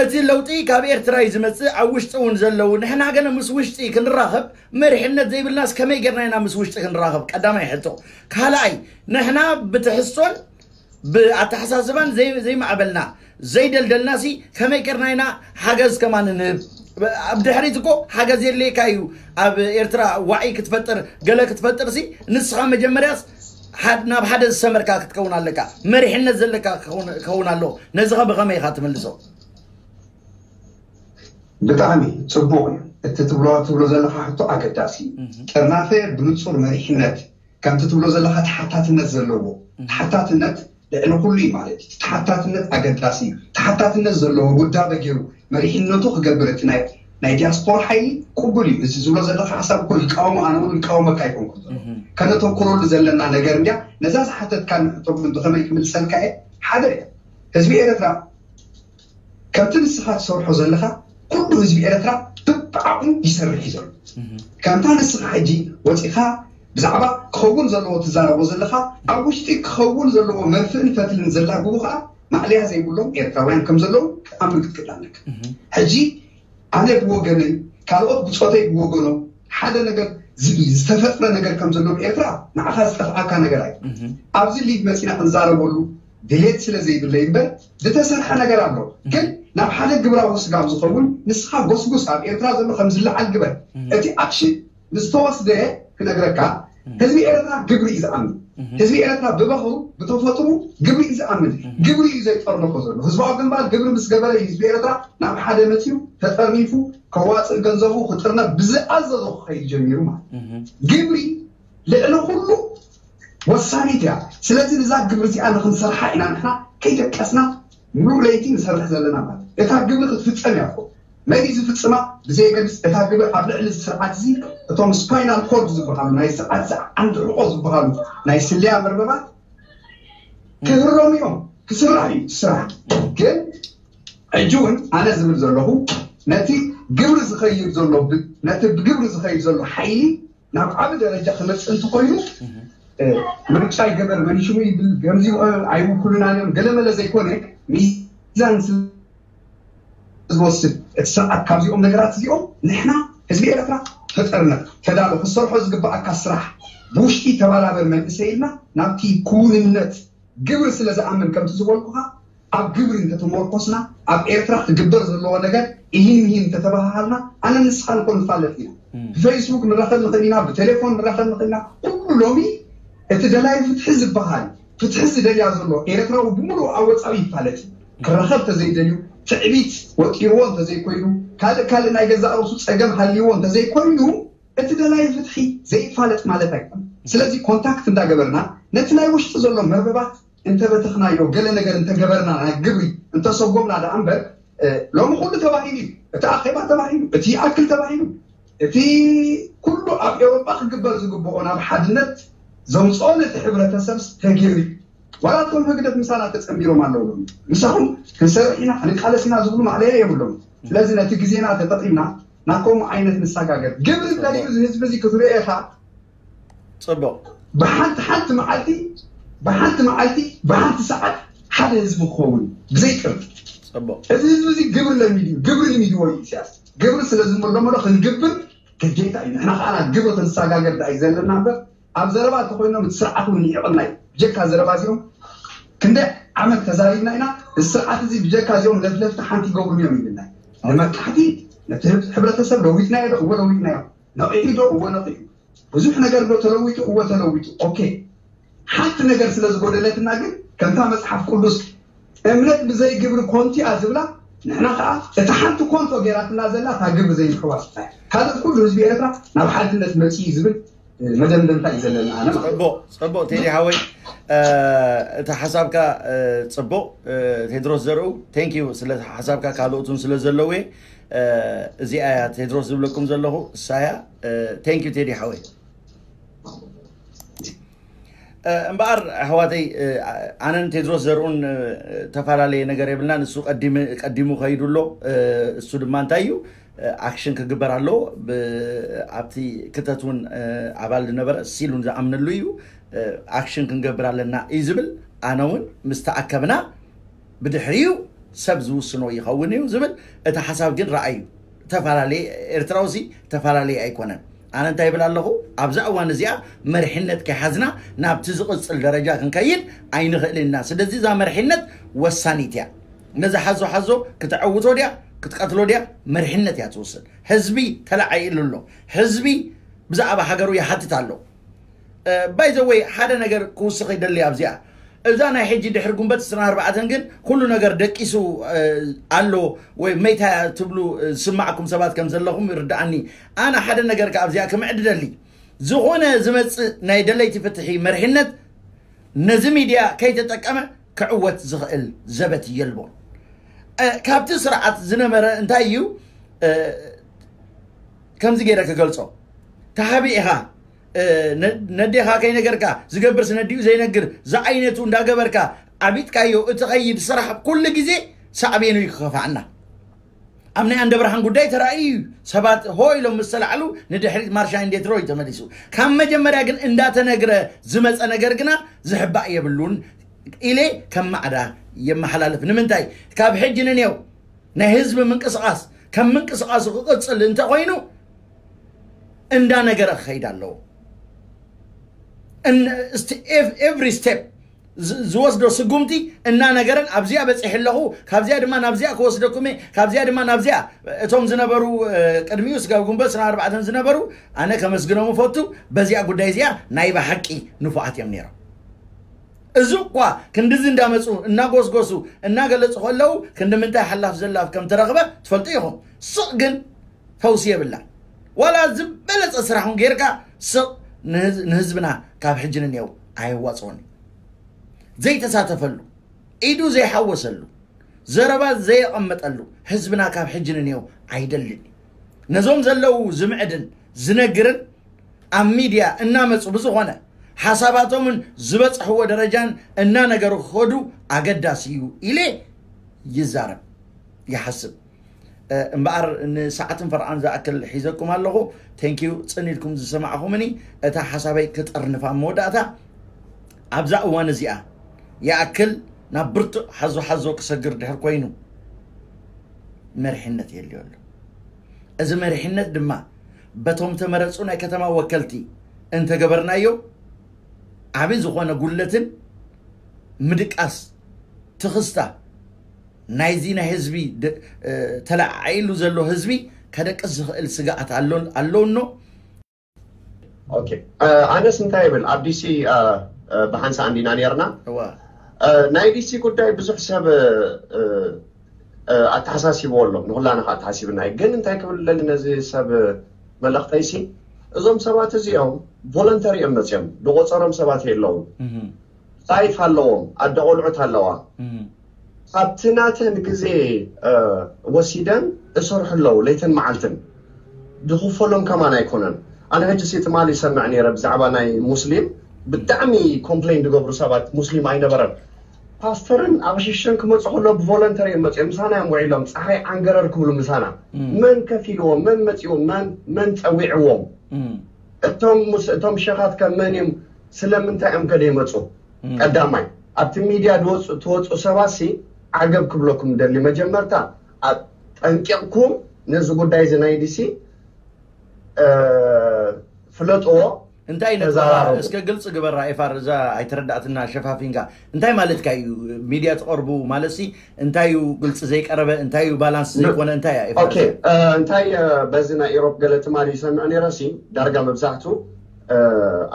እቲ ለውጢ ካብ ኤርትራ እዩ ዝመፅእ ኣብ ውሽጢ እውን ዘለዉ ንሕና ገለ ምስ ውሽጢ ክንራኸብ መርሕነት ዘይብልናስ ከመይ ጌርና ኢና ምስ ውሽጢ ክንራኸብ ቀዳማይ ሕቶ ካልኣይ ንሕና ብትሕዝቶን ብኣተሓሳስባን ዘይማዕበልና ዘይደልደልና ሲ ከመይ ጌርና ኢና ሓገዝ ከማን ንህብ ኣብ ድሕሪት እኮ ሓገዝ የድልየካ እዩ ኣብ ኤርትራ ዋዒ ክትፈጥር ገለ ክትፈጥር ሲ ንስኻ መጀመርያስ ናብ ሓደ ዝሰመርካ ክትከውን ኣለካ መሪሕነት ዘለካ ክኸውን ኣለዎ ነዚ ከ ብኸመይ ኢኻ ትምልሶ ብጣዕሚ ፅቡቅ እዩ እቲ ትብሎ ትብሎ ዘለካ ሕቶ ኣገዳሲ እዩ ጥርናፈ ብንፁር መሪሕነት ከምቲ ትብሎ ዘለካ ተሓታትነት ዘለዎ ተሓታትነት ልዕሊ ኩሉ እዩ ማለት እዩ ተሓታትነት ኣገዳሲ እዩ ተሓታትነት ዘለዎ ውዳበ ገይሩ መሪሕነቱ ክገብር እቲ ናይ ናይ ዲያስፖራ ሓይሊ ቅቡል እዩ እዚ ዝብሎ ዘለካ ሓሳብ እኮ ይቃወሞ ኣነ እውን ይቃወመካ ኣይኮንኩ ከነተኩረሉ ዘለና ነገር እንዲያ ነዛ ዝሓተትካ ንሕቶ ግን ብከመይ ክምልሰልካ እየ ሓደ ህዝቢ ኤረትራ ከምቲ ንስኻ ትሰርሖ ዘለኻ ኩሉ ህዝቢ ኤረትራ ብብዓቕሙ ይሰርሕ እዩ ዘሎ ከምታ ንስኻ ሕጂ ወፂኻ ብዛዕባ ክኸውን ዘለዎ ትዛረቦ ዘለኻ ኣብ ውሽጢ ክኸውን ዘለዎ መርፍእን ፈትልን ዘላግቡ ከዓ ማዕለያ ዘይብሎም ኤርትራውያን ከም ዘለዉ ክትኣምን ክትክእል ኣለካ ሕጂ ኣነ ብወገነይ ካልኦት ብፆተይ ብወገኖም ሓደ ነገር ዝተፈጥረ ነገር ከም ዘሎ ኤርትራ ንዓኻ ዝጠፍኣካ ነገር ኣዩ ኣብዚ ሊግ መፂና ክንዛረበሉ ድሌት ስለ ዘይብለይ እምበር ዝተሰርሐ ነገር ኣሎ ግን ናብ ሓደ ግብራዊ ስጋብ ዝኸውን ንስኻ ጎስጉስ ኣብ ኤርትራ ዘሎ ከም ዝለዓል ግበር እቲ ኣክሽን ንዝተወስደ ክነግረካ ህዝቢ ኤርትራ ግብሪ እዩ ዝኣምን ህዝቢ ኤርትራ ብባህሩ ብተፈጥሩ ግብሪ እዩ ዝኣምን ግብሪ እዩ ዘይጠርነፎ ዘሎ ህዝባዊ ግንባር ግብሪ ምስ ገበረ ህዝቢ ኤርትራ ናብ ሓደ መፅዩ ተጠርኒፉ ከዋፅእ ገንዘቡ ክጥርነፍ ብዝኣዘዞ ክኸይድ ጀሚሩ ማለት ግብሪ ልዕሊ ኩሉ ወሳኒት እያ ስለዚ ንዛ ግብሪ እዚኣ ንክንሰርሓ ኢና ንሕና ከይደቀስና ሙሉእ ለይቲ ንሰርሕ ዘለና ማለት እታ ግብሪ ክትፍፀም እያ መን እዩ ዝፍፅማ ብዘየገድስ እታ ግብሪ ኣብ ልዕሊ ስርዓት እዚ እቶም ስፓይናል ኮርድ ዝበሃሉ ናይ ስርዓት እዚ ዓንዲ ሕቆ ዝበሃሉ ናይ ስለያ መርበባት ክህረሙ እዮም ክስራሕ እዩ ስራሕ ግን ሕጂ እውን ኣነ ዝብል ዘለኹ ነቲ ግብሪ ዝኸይድ ዘሎ ነቲ ብግብሪ ዝኸይድ ዘሎ ሓይሊ ናብ ዓቢ ደረጃ ክመፅእ እንተኮይኑ ምርጫ ይገበር፣ መን ሽሙ ይብል፣ ከምዚ ኣይውክሉናን እዮም፣ ገለመለ ዘይኮነ፣ ሚዛን ዝወስድ እቲ ስርዓት። ካብዚኦም ነገራት እዚኦም ንሕና ህዝቢ ኤርትራ ተጠርነፍ፣ ተዳሎ፣ ክሰርሖ ዝግባኣካ ስራሕ፣ ብውሽጢ ተባራበር መንእሰይ ኢልና ናብቲ ክውንነት ግብሪ ስለ ዝኣምን፣ ከምቲ ዝበልኩኻ፣ ኣብ ግብሪ እንተተመርኮስና፣ ኣብ ኤርትራ ክግበር ዘለዎ ነገር ኢሂን ምሂን እንተተባሃሃልና፣ ኣነ ንስኻ ንኮ ንፋለጥ ኢና። ብፌስቡክ ንራኸብ ንኽእል ኢና፣ ብቴሌፎን ንራኸብ ንኽእል ኢና። ኩሉ ሎሚ እቲ ደላይ ፍትሒ ዝበሃል፣ ፍትሒ ዝደልያ ዘሎ ኤርትራዊ ብምሉእ ኣብ ወጻኢ ይፋለጥ እዩ። ክራኸብ ተዘይደልዩ፣ ትዕቢት ወጢርዎ እንተዘይኮይኑ፣ ካልእ ካልእ ናይ ገዛእ ርእሱ ጸገም ሃልይዎ እንተዘይኮይኑ፣ እቲ ደላይ ፍትሒ ዘይፋለጥ ማለት ኣይኮነን። ስለዚ ኮንታክት እንዳገበርና፣ ነቲ ናይ ውሽጢ ዘሎ መርበባት እንተበተኽናዮ፣ ገለ ነገር እንተገበርና፣ ናይ ግብሪ እንተሰጎምና ደኣ እምበር፣ እ፣ ሎሚ ኩሉ ተባሂሉ እዩ። እቲ ኣኼባ ተባሂሉ፣ እቲ ይኣክል ተባሂሉ፣ እቲ ኩሉ ኣብ ኤውሮጳ ክግበር ዝግብኦ ናብ ሓድነት ዘምጽኦ ነቲ ሕብረተሰብ ተገይሩ እዩ። ዋላ እቶም ህግደፍ ምሳና ተጸንቢሮም ኣለዉ ሎሚ። ምሳኹም ክንሰርሕ ኢና፣ ክንቃለስ ኢና ዝብሉ ማዕለያ የብሎም። ስለዚ ነቲ ግዜና ተጠቒምና ናብ ከምኡ ዓይነት ንሰጋገር። ግብሪ ደልዩ እዚ ህዝቢ እዚ ክትሪኦ ኢኻ። ጽቡቕ። ብሓንቲ ሓንቲ መዓልቲ፣ ብሓንቲ መዓልቲ፣ ብሓንቲ ሰዓት ሓደ ህዝቢ ክኸውን ብዘይ ቅርብ። ጽቡቕ። እዚ ህዝቢ እዚ ግብሪ ለሚዱ እዩ፣ ግብሪ ልሚድዎ እዩ ኢሳያስ። ግብሪ ስለ ዝመለመሎ ክንግብር ግዴታ እዩ። ንሕና ከኣ ግብሪ ክንሰጋገር ደኣ እዩ ዘለና እምበር፣ ኣብ ዘረባ እንተኮይኖም እቲ ስርዓት እውን ንዒቕና እዩ። ብጀካ ዘረባ እዚኦም ክንደይ ዓመት ተዛሪብና ኢና። እዚ ስርዓት እዚ ብጀካ እዚኦም ለፍለፍቲ ሓንቲ ይገብሩን እዮም ይብልና እዩ። ንመካሕቲ፣ ነቲ ህብ-፣ ሕብረተሰብ ለዊጥናዮ ዶ? እወ ለዊጥናዮ። ነቒሑ ዶ? እወ ነቒሑ። ብዙሕ ነገር ዶ ተለዊጡ? እወ ተለዊጡ። ኦኬ። ሓንቲ ነገር ስለ ዝጎደለትና ግን፣ ከምታ መጽሓፍ ቅዱስ እምነት ብዘይ ግብሪ ኮንቱ እያ ዝብላ፣ ንሕና ከኣ እታ ሓንቲ ኮንቶ ገይራትና ዘላ እታ ግብሪ ዘይምሕዋስ ጥራይ። ካልእ ኩሉ ህዝቢ ኤርትራ ናብ ሓድነት መጺኡ እዩ ዝብል መደምደምታ እዩ ዘለና ኣነ ማለት እዩ። ጽቡቕ፣ ጽቡቕ ቴዲ ሓወይ፣ እ፣ እቲ ሓሳብካ፣ እ፣ ጽቡቕ፣ እ፣ ቴድሮስ ዘርኡ፣ ቴንክ ዩ ስለ ሓሳብካ፣ ካልኦት እውን ስለ ዘለዉ እየ። እ፣ እዚኣ እያ ቴድሮስ ዝብለኩም ዘለኹ፣ እሳ እያ። እ፣ ቴንክ ዩ ቴዲ ሓወይ። እ፣ እምበኣር ኣሕዋተይ፣ እ፣ ኣነን ቴድሮስ ዘርኡን፣ እ፣ ተፈላለየ ነገር የብልና። ንሱ ቀዲሙ፣ ቀዲሙ ከይዱ ኣሎ። እ፣ እሱ ድማ እንታይ እዩ፣ እ፣ ኣክሽን ክግበር ኣለዎ። ብ-፣ ኣብቲ ክተት እውን፣ እ፣ ኣባል ዝነበረ ሲል እውን ዝኣምነሉ እዩ። እ፣ ኣክሽን ክንገብር ኣለና እዩ ዝብል። ኣነ እውን ምስ ተኣከብና ብድሕሪኡ ሰብ ዝውስኖ ይኸውን እዩ ዝብል። እቲ ሓሳብ ግን ረኣዩ ተፈላለየ፣ ኤርትራውሲ ተፈላለየ ኣይኮነን። ኣነ እንታይ ይብል ኣለኹ? ኣብዛ እዋን እዚኣ መሪሕነት ከይሓዝና ናብቲ ዝቕጽል ደረጃ ክንከይድ ኣይንኽእልን ኢና። ስለዚ እዛ መሪሕነት ወሳኒት እያ። ነዚ ሓዞ ሓዞ ክተዐውቶ ድያ ክትቀትሎ ድያ መሪሕነት እያ ትውስን። ህዝቢ ተለዓዒሉ ኣሎ። ህዝቢ ብዛዕባ ሃገሩ ይሓትት ኣሎ። ባይዘወይ ሓደ ነገር ክውስኽ ይደሊ ኣብዚኣ። እዛ ናይ ሕጂ ድሕሪ ጉንበት ዕስራን ኣርባዕተን ግን ኩሉ ነገር ደቂሱ፣ እ፣ ኣሎ ወይ መይታ ትብሉ፣ እ፣ ዝስማዕኩም ሰባት ከም ዘለኹም ይርድኣኒ። ኣነ ሓደ ነገር ከ ኣብዚኣ ክምዕድ ደሊ። ዝኾነ ዝመጽእ ናይ ደለይቲ ፍትሒ መርሕነት ነዚ ሚድያ ከይተጠቀመ ክዕወት ዝኽእል ዘበት የልቦን። እ፣ ካብቲ ስርዓት ዝነበረ እንታይ እዩ፣ እ፣ ከምዚ ገይረ ክገልጾ፣ ተሓቢእኻ፣ እ፣ ነ-፣ ነዴኻ ከይነገርካ፣ ዝገብርስ ነዲኡ ዘይነግር፣ ዝዓይነቱ እንዳገበርካ ዓቢጥካዮ እትኸይድ ስራሕ ኩሉ ግዜ ሳዕቤኑ እዩ ክኸፍኣና። ኣብ ናይ ኣንደብርሃን ጉዳይ ተራእዩ እዩ። ሰባት ሆ ኢሎም ምስ ተላዕሉ ንድሕሪት ማርሻ እንዴት ሮይ ተመሊሱ። ካብ መጀመርያ ግን እንዳተነግረ ዝመጸ ነገር ግና ዝሕባእ የብሉን ኢለ ከም ማዕዳ የመሓላልፍ። ንምንታይ? ካብ ሕጂ ንኔው ናይ ህዝቢ ምንቅስቓስ ከም ምንቅስቓሱ ክቕጽል እንተኾይኑ እንዳነገረ ክኸይድ ኣለዎ። እን-፣ እስቲ ኤቭ-፣ ኤቭሪ ስቴፕ ዝ-፣ ዝወስዶ ስጉምቲ እናነገረን ኣብዚኣ በፂሐ ኣለኹ፣ ካብዚኣ ድማ ናብዚኣ ክወስደኩም እየ፣ ካብዚኣ ድማ ናብዚኣ። እቶም ዝነበሩ፣ እ፣ ቅድሚኡ ስጋብ ጉንበት ዕስራን ኣርባዕተን ዝነበሩ ኣነ ከመስግኖም እፈቱ። በዚኣ ጉዳይ እዚኣ ናይ ብሓቂ ንፉዓት እዮም ነይሮም። እዚ እኳ ክንድዚ እንዳመፁ እናጎስጎሱ እናገለፁ ከለዉ ክንዲ ምንታይ ሓላፍ ዘላፍ ከም ተረኽበ ትፈልጡ ኢኹም። ስቕ ግን ፈውሲ የብላን። ዋላ ዝበለፀ ስራሕ እውን ጌርካ ስቕ ንህዝ-፣ ንህዝብና ካብ ሕጂ ንኔው ኣየዋፅኦን እዩ። ዘይተሳተፈሉ፣ ኢዱ ዘይሓወሰሉ፣ ዘረባ ዘየቐመጠሉ ህዝብና ካብ ሕጂ ንኔው ኣይደልን እዩ። ነዞም ዘለዉ ዝምዕድን ዝነግርን ኣብ ሚድያ እናመፁ ብዝኾነ ሓሳባቶምን ዝበፅሕዎ ደረጃን እናነገሩ ክኸዱ ኣገዳሲ እዩ ኢለ ይዛረብ፣ ይሓስብ። እ፣ እምበኣር ንሰዓትን ፈርቓን ዝኣክል ሒዘኩም ኣለኹ። ቴንኪዩ፣ ጽን ኢልኩም ዝሰማዕኹምኒ። እታ ሓሳበይ ክጠርንፋ ኣብ መወዳእታ፣ ኣብዛ እዋን እዚኣ ይኣክል ናብ ብርቱዕ ሓዞ ሓዞ ክሰግር ድሕር ኮይኑ መሪሕነት የልዮ ኣሎ። እዚ መሪሕነት ድማ በቶም ተመረፁ ናይ ከተማ ወከልቲ እንተገበርናዮ ዓቢ ዝኾነ ጉለትን ምድቃስ ትኽስታ ናይዚ ናይ ህዝቢ ተለዓዒሉ ዘሎ ህዝቢ ከደቅስ ዝኽእል ስጋኣት ኣሎ እኖ። ኣነስ እንታይ ይብል ኣብ ዲሲ ብሓንሳ እንዲና ነርና። ናይ ዲሲ ጉዳይ ብዙሕ ሰብ ኣተሓሳሲብዎ ኣሎ፣ ንኩላና ከዓ ኣተሓሲብና እዩ። ግን እንታይ ክብል ለሊ ነዚ ሰብ መልእኽተይሲ፣ እዞም ሰባት እዚኦም ቮለንተሪ እዮም መፅኦም፣ ዝቆፀሮም ሰባት የለውን። ላይፍ ኣለዎም፣ ኣደ ቆልዑት ኣለዋ። ኣብቲ ናተን ግዜ ወሲደን እሰርሑ ኣለዉ ለይትን መዓልትን። ዝኽፈሎም ከማን ኣይኮነን። ኣነ ሕጂ ሲ ትማሊ ይሰምዕ ነይረ ብዛዕባ ናይ ሙስሊም ብጣዕሚ ኮምፕሌን ዝገብሩ ሰባት፣ ሙስሊም ኣይነበረን። ፓስተርን ኣቕሽሽን ክመፁ ከሎ ብቮለንተሪ እዮም መፅኦም፣ ምሳና እዮም ውዒሎም፣ ፀሓይ ዓንገረር ክብሉ ምሳና። መን ከፊልዎም፣ መን መፂዎም፣ መን ፀዊዕዎም? እቶም ሸኻት ከ መን እዮም? ስለምንታይ እዮም ከደ ይመፁ? ቀዳማይ ኣብቲ ሚድያ ትወፁ ሰባት ሲ ዓገብ ክብለኩም ደሊ፣ መጀመርታ ጠንቂቕኩም ነዚ ጉዳይ እዚ ናይ ዲሲ ፍለጥዎ። እንታይ እስከ ግልፂ ግበራ ኤፋር፣ እዛ ኣይተረዳእትና ሸፋፊንካ። እንታይ ማለትካ እዩ? ሚድያ ትቐርቡ ማለት ሲ እንታይ እዩ ግልፂ ዘይቀረበ? እንታይ እዩ ባላንስ ዘይኮነ? እንታይ እያ ኤፋር? እንታይ በዚ ናይ ኢሮፕ ገለ ትማሊ ይሰምዕ ነይረ ሲ ዳርጋ መብዛሕቱ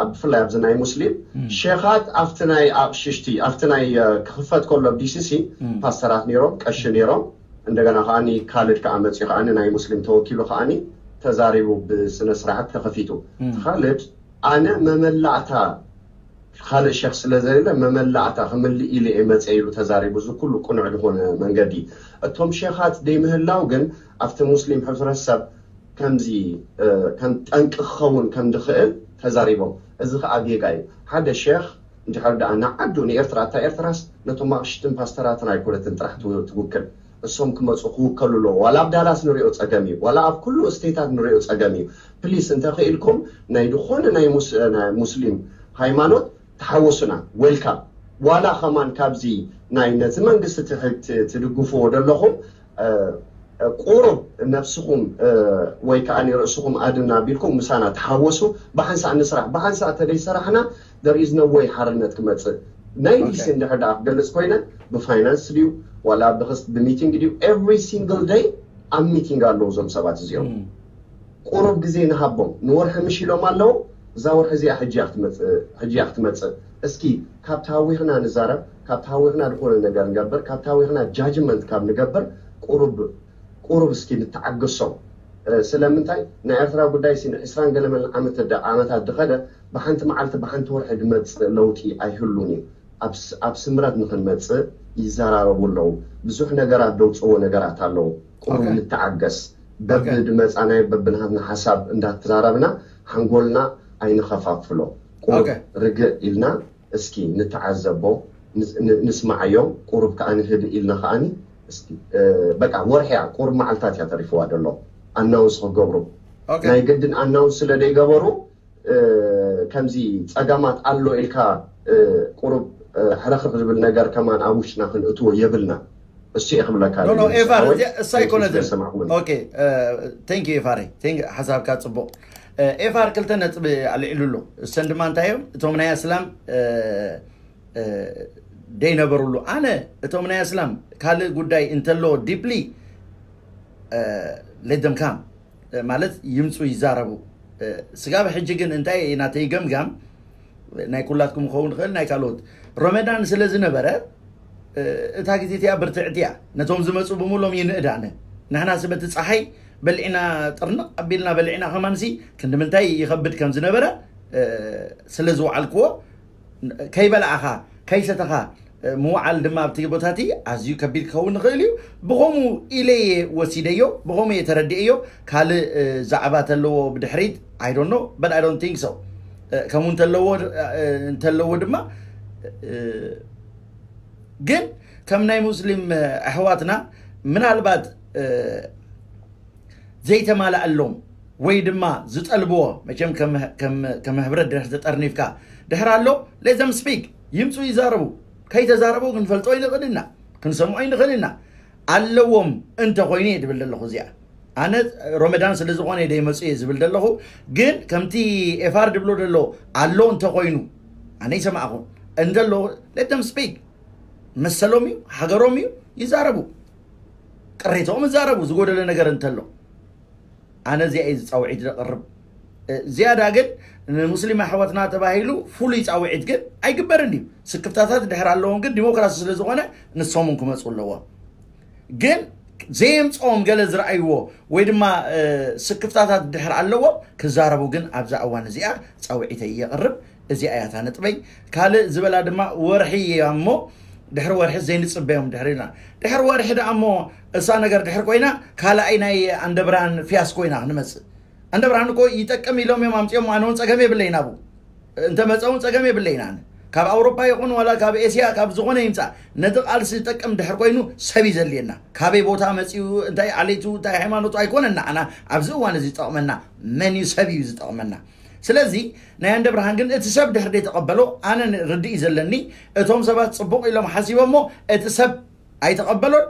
ኣብ ብፍላይ ኣብዚ ናይ ሙስሊም ሼኻት ኣብቲ ናይ ኣቕሽሽቲ ኣብቲ ናይ ክኽፈት ከሎ ዲሲሲ ፓስተራት ነይሮም፣ ቀሺ ነይሮም። እንደገና ከዓኒ ካልድ ከዓ መፅኡ ከዓኒ ናይ ሙስሊም ተወኪሉ ከዓኒ ተዛሪቡ ብስነ ስርዓት ተኸፊቱ። ካልድ ኣነ መመላእታ ካልእ ሸኽ ስለ ዘየለ መመላእታ ክምልእ ኢለ እየ መፀ ኢሉ ተዛሪቡ። እዚ ኩሉ ቅኑዕ ዝኾነ መንገዲ እቶም ሸኻት ደይምህላው ግን ኣብቲ ሙስሊም ሕብረተሰብ ከምዚ ከም ጠንቂ ክኸውን ከም ዝኽእል ተዛሪቦም። እዚ ከዓ ጌጋ እዩ። ሓደ ሸኽ እንድሕር ደኣ ንዓዱ ንኤርትራ፣ እታ ኤርትራስ ነቶም ኣቕሽትን ፓስተራትን ኣይኮነትን ጥራሕ ትውክል። እሶም ክመፁ ክውከሉ ኣለዎ። ዋላ ኣብ ዳላስ ንሪኦ ፀገም እዩ፣ ዋላ ኣብ ኩሉ ስቴታት ንሪኦ ፀገም እዩ። ፕሊስ እንተኽኢልኩም ናይ ዝኾነ ናይ ሙስሊም ሃይማኖት ተሓወሱና፣ ዌልካም። ዋላ ከማን ካብዚ ናይ ነቲ መንግስቲ ትድግፍዎ ዘለኹም ቁሩብ ነብስኹም ወይ ከዓ ርእስኹም ኣድና ቢልኩም ምሳና ተሓወሱ። ብሓንሳእ ንስራሕ፣ ብሓንሳእ ተደይ ሰራሕና there is no way ሓርነት ክመፅእ። ናይ ዲሲ እንድሕር ደኣ ክገልፅ ኮይነ ብፋይናንስ ድዩ ዋላ ብክስት ብሚቲንግ ድዩ? Every single day ኣብ ሚቲንግ ኣለዉ እዞም ሰባት እዚኦም። ቁሩብ ግዜ ንሃቦም፣ ንወርሒ ምሽ ኢሎም ኣለዉ። እዛ ወርሒ እዚኣ ሕጂ እያ ክትመፅእ። እስኪ ካብ ተሃዊኽና ንዛረብ፣ ካብ ተሃዊኽና ዝኾነ ነገር ንገብር፣ ካብ ተሃዊኽና ጃጅመንት ካብ ንገብር ቁሩብ ቁሩብ እስኪ ንተዓገሶም። ስለምንታይ ናይ ኤርትራ ጉዳይ ሲ ንዕስራን ገለመን ዓመት ዓመታት ዝኸደ ብሓንቲ መዓልቲ ብሓንቲ ወርሒ ዝመፅእ ለውጢ ኣይህሉን እዩ። ኣብ ስምረት ንክንመፅእ ይዘራረቡ ኣለዉ። ብዙሕ ነገራት ደውፅዎ ነገራት ኣለዉ። ቁሩብ ንተዓገስ። በብድመፃናዮ በብናሃትና ሓሳብ እንዳተዛረብና ሓንጎልና ኣይንኸፋፍሎ። ቁሩብ ርግእ ኢልና እስኪ ንተዓዘቦ፣ ንስማዓዮም። ቁሩብ ከዓ ንህድእ ኢልና ከዓኒ በቃ ወርሒ እያ፣ ቁሩብ መዓልታት እያ ተሪፍዋ ዘሎ ኣናውንስ ክገብሩ። ናይ ግድን ኣናውንስ ስለ ዘይገበሩ ከምዚ ፀገማት ኣሎ ኢልካ ቁሩብ ሕርኽርኽ ዝብል ነገር ከማን ኣብ ውሽጥና ክንእትዎ የብልና። እሱ እየ ክብለካ ኤፋር፣ እሳ ኣይኮነትን። ቴንክ ኤፋር፣ ሓሳብካ ፅቡቕ። ኤፋር ክልተ ነጥቢ ኣልዒሉ ኣሎ። እሰን ድማ እንታይ እዮም? እቶም ናይ ኣስላም ደይነበሩሉ። ኣነ እቶም ናይ ኣስላም ካልእ ጉዳይ እንተሎ ዲፕሊ ሌደምካም ማለት ይምፁ ይዛረቡ። ስጋብ ሕጂ ግን እንታይ ናተይ ገምጋም ናይ ኩላትኩም ክኸውን ይኽእል ናይ ካልኦት ረመዳን ስለ ዝነበረ እታ ግዜ እቲኣ ብርትዕቲ እያ። ነቶም ዝመፁ ብምሎም ይንእድ ኣነ። ንሕና ስበቲ ፀሓይ በልዒና ጥርንቕ ኣቢልና በልዒና ከማንሲ ክንዲ ምንታይ ይኸብድ ከም ዝነበረ ስለ ዝወዓልክዎ ከይበላዕኻ ከይሰተኻ ምውዓል ድማ ኣብቲ ቦታቲ ኣዝዩ ከቢድ ክኸውን ንኽእል እዩ። ብኸምኡ ኢለ እየ ወሲደዮ፣ ብኸምኡ እየ ተረዲኤዮ። ካልእ ዛዕባ ተለዎ ብድሕሪት I don't know, but I don't think so። ከምኡ እንተለዎ እንተለዎ ድማ ግን ከም ናይ ሙስሊም ኣሕዋትና ምናልባት ዘይተማላኣሎም ወይ ድማ ዝጠልብዎ መቸም ከም ህብረት ድሕር ተጠርኒፍካ ድሕር ኣሎ let them speak። ይምፁ ይዛረቡ። ከይተዛረቡ ክንፈልጦ ይንኽእል ኢና፣ ክንሰምዖ ይንኽእል ኢና። ኣለዎም እንተኾይኑ እየ ዝብል ዘለኹ እዚኣ። ኣነ ሮመዳን ስለ ዝኾነ ደይመፁ እየ ዝብል ዘለኹ። ግን ከምቲ ኤፋር ድብሎ ዘሎ ኣሎ እንተኾይኑ፣ ኣነ ይሰማዕኹ እንተሎ፣ let them speak። መሰሎም እዩ፣ ሃገሮም እዩ፣ ይዛረቡ። ቅሬታኦም ይዛረቡ ዝጎደለ ነገር እንተሎ። ኣነ እዚኣ እዩ ዝፃውዒት ዘቕርብ። ዝያዳ ግን ንሙስሊም ኣሕዋትና ተባሂሉ ፍሉይ ፃውዒት ግን ኣይግበርን እዩ። ስክፍታታት ድሕር ኣለዎም፣ ግን ዲሞክራሲ ስለ ዝኾነ ንሶም እውን ክመፁ ኣለዎም። ግን ዘየምፅኦም ገለ ዝረኣይዎ ወይ ድማ ስክፍታታት ድሕር ኣለዎም ክዛረቡ ግን ኣብዛ እዋን እዚኣ ፃውዒተይ የቕርብ። እዚኣ እያ እታ ነጥበይ። ካልእ ዝበላ ድማ ወርሒ እያ እሞ ድሕሪ ወርሒ ዘይንፅበዮም ድሕሪ ኢልና፣ ድሕሪ ወርሒ ደኣ እሞ እሳ ነገር ድሕር ኮይና ካልኣይ ናይ ኣንደብራን ፊያስ ኮይና ክንመፅእ። ኣንደብራን እኮ ይጠቅም ኢሎም እዮም ኣምፅኦም፣ ኣነ እውን ፀገም የብለይና ብኡ። እንተመፀ እውን ፀገም የብለይና። ኣነ ካብ ኣውሮፓ ይኹን ዋላ ካብ ኤስያ ካብ ዝኾነ ይምፃእ፣ ነቲ ቃልሲ ዝጠቅም ድሕር ኮይኑ ሰብ እዩ ዘድልየና። ካበይ ቦታ መፂኡ፣ እንታይ ዓሌቱ፣ እንታይ ሃይማኖቱ ኣይኮነና። ኣና ኣብዚ እዋን እዚ ዝጠቕመና መን እዩ? ሰብ እዩ ዝጠቕመና። ስለዚ ናይ ኣንደብርሃን ግን እቲ ሰብ ድሕር ዘይተቐበሎ ኣነ ርድእ እዩ ዘለኒ። እቶም ሰባት ፅቡቕ ኢሎም ሓሲቦሞ እቲ ሰብ ኣይተቐበሎን።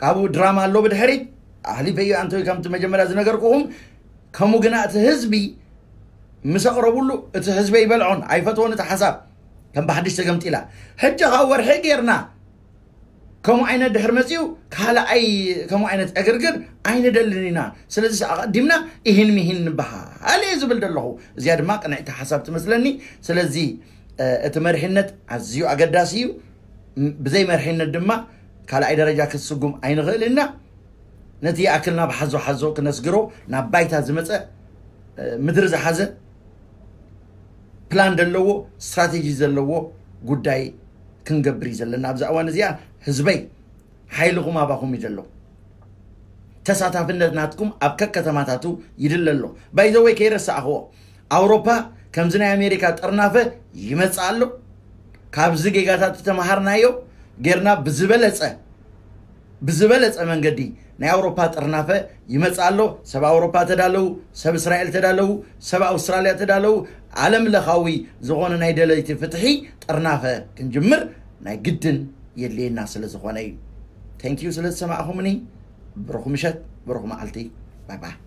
ካብኡ ድራማ ኣሎ ብድሕሪት። ኣሕሊፈ እዩ ኣንተ ከምቲ መጀመርያ ዝነገርኩኹም። ከምኡ ግና እቲ ህዝቢ ምስ ኣቕረቡሉ እቲ ህዝቢ ይበልዖን ኣይፈትዎን። እቲ ሓሳብ ከም ብሓድሽ ተገምጢላ። ሕጂ ካብ ወርሒ ጌርና ከምኡ ዓይነት ድሕር መፂኡ ካልኣይ ከምኡ ዓይነት ዕግርግር ኣይንደልን ኢና። ስለዚ ኣቐዲምና ይህን ምሂን ንበሃል እየ ዝብል ዘለኹ። እዚኣ ድማ ቅንዕቲ ሓሳብ ትመስለኒ። ስለዚ እቲ መርሒነት ኣዝዩ ኣገዳሲ እዩ። ብዘይ መርሒነት ድማ ካልኣይ ደረጃ ክትስጉም ኣይንኽእል ኢና። ነቲ ይኣክል ናብ ሓዞ ሓዞ ክነስግሮ ናብ ባይታ ዝመፀ ምድሪ ዝሓዘ ፕላን ዘለዎ ስትራቴጂ ዘለዎ ጉዳይ ክንገብር እዩ ዘለና። ኣብዛ እዋን እዚኣ ህዝበይ ሓይልኹም ኣባኹም እዩ ዘሎ። ተሳታፍነት ናትኩም ኣብ ከከተማታቱ ይድለ ኣሎ። ባይዘወይ ከይረሳዕኽዎ ኣውሮፓ ከምዚ ናይ ኣሜሪካ ጥርናፈ ይመፅእ ኣሎ። ካብዚ ጌጋታት ዝተምሃርናዮ ጌርና ብዝበለፀ ብዝበለፀ መንገዲ ናይ ኣውሮፓ ጥርናፈ ይመፅእ ኣሎ። ሰብ ኣውሮፓ ተዳለዉ፣ ሰብ እስራኤል ተዳለዉ፣ ሰብ ኣውስትራልያ ተዳለዉ። ዓለም ለኻዊ ዝኾነ ናይ ደለይቲ ፍትሒ ጥርናፈ ክንጅምር ናይ ግድን የድልየና ስለ ዝኾነ እዩ። Thank you ስለ ዝሰማዕኹምኒ። ብሩኽ ምሸት፣ ብሩኽ መዓልቲ። ባይ ባይ።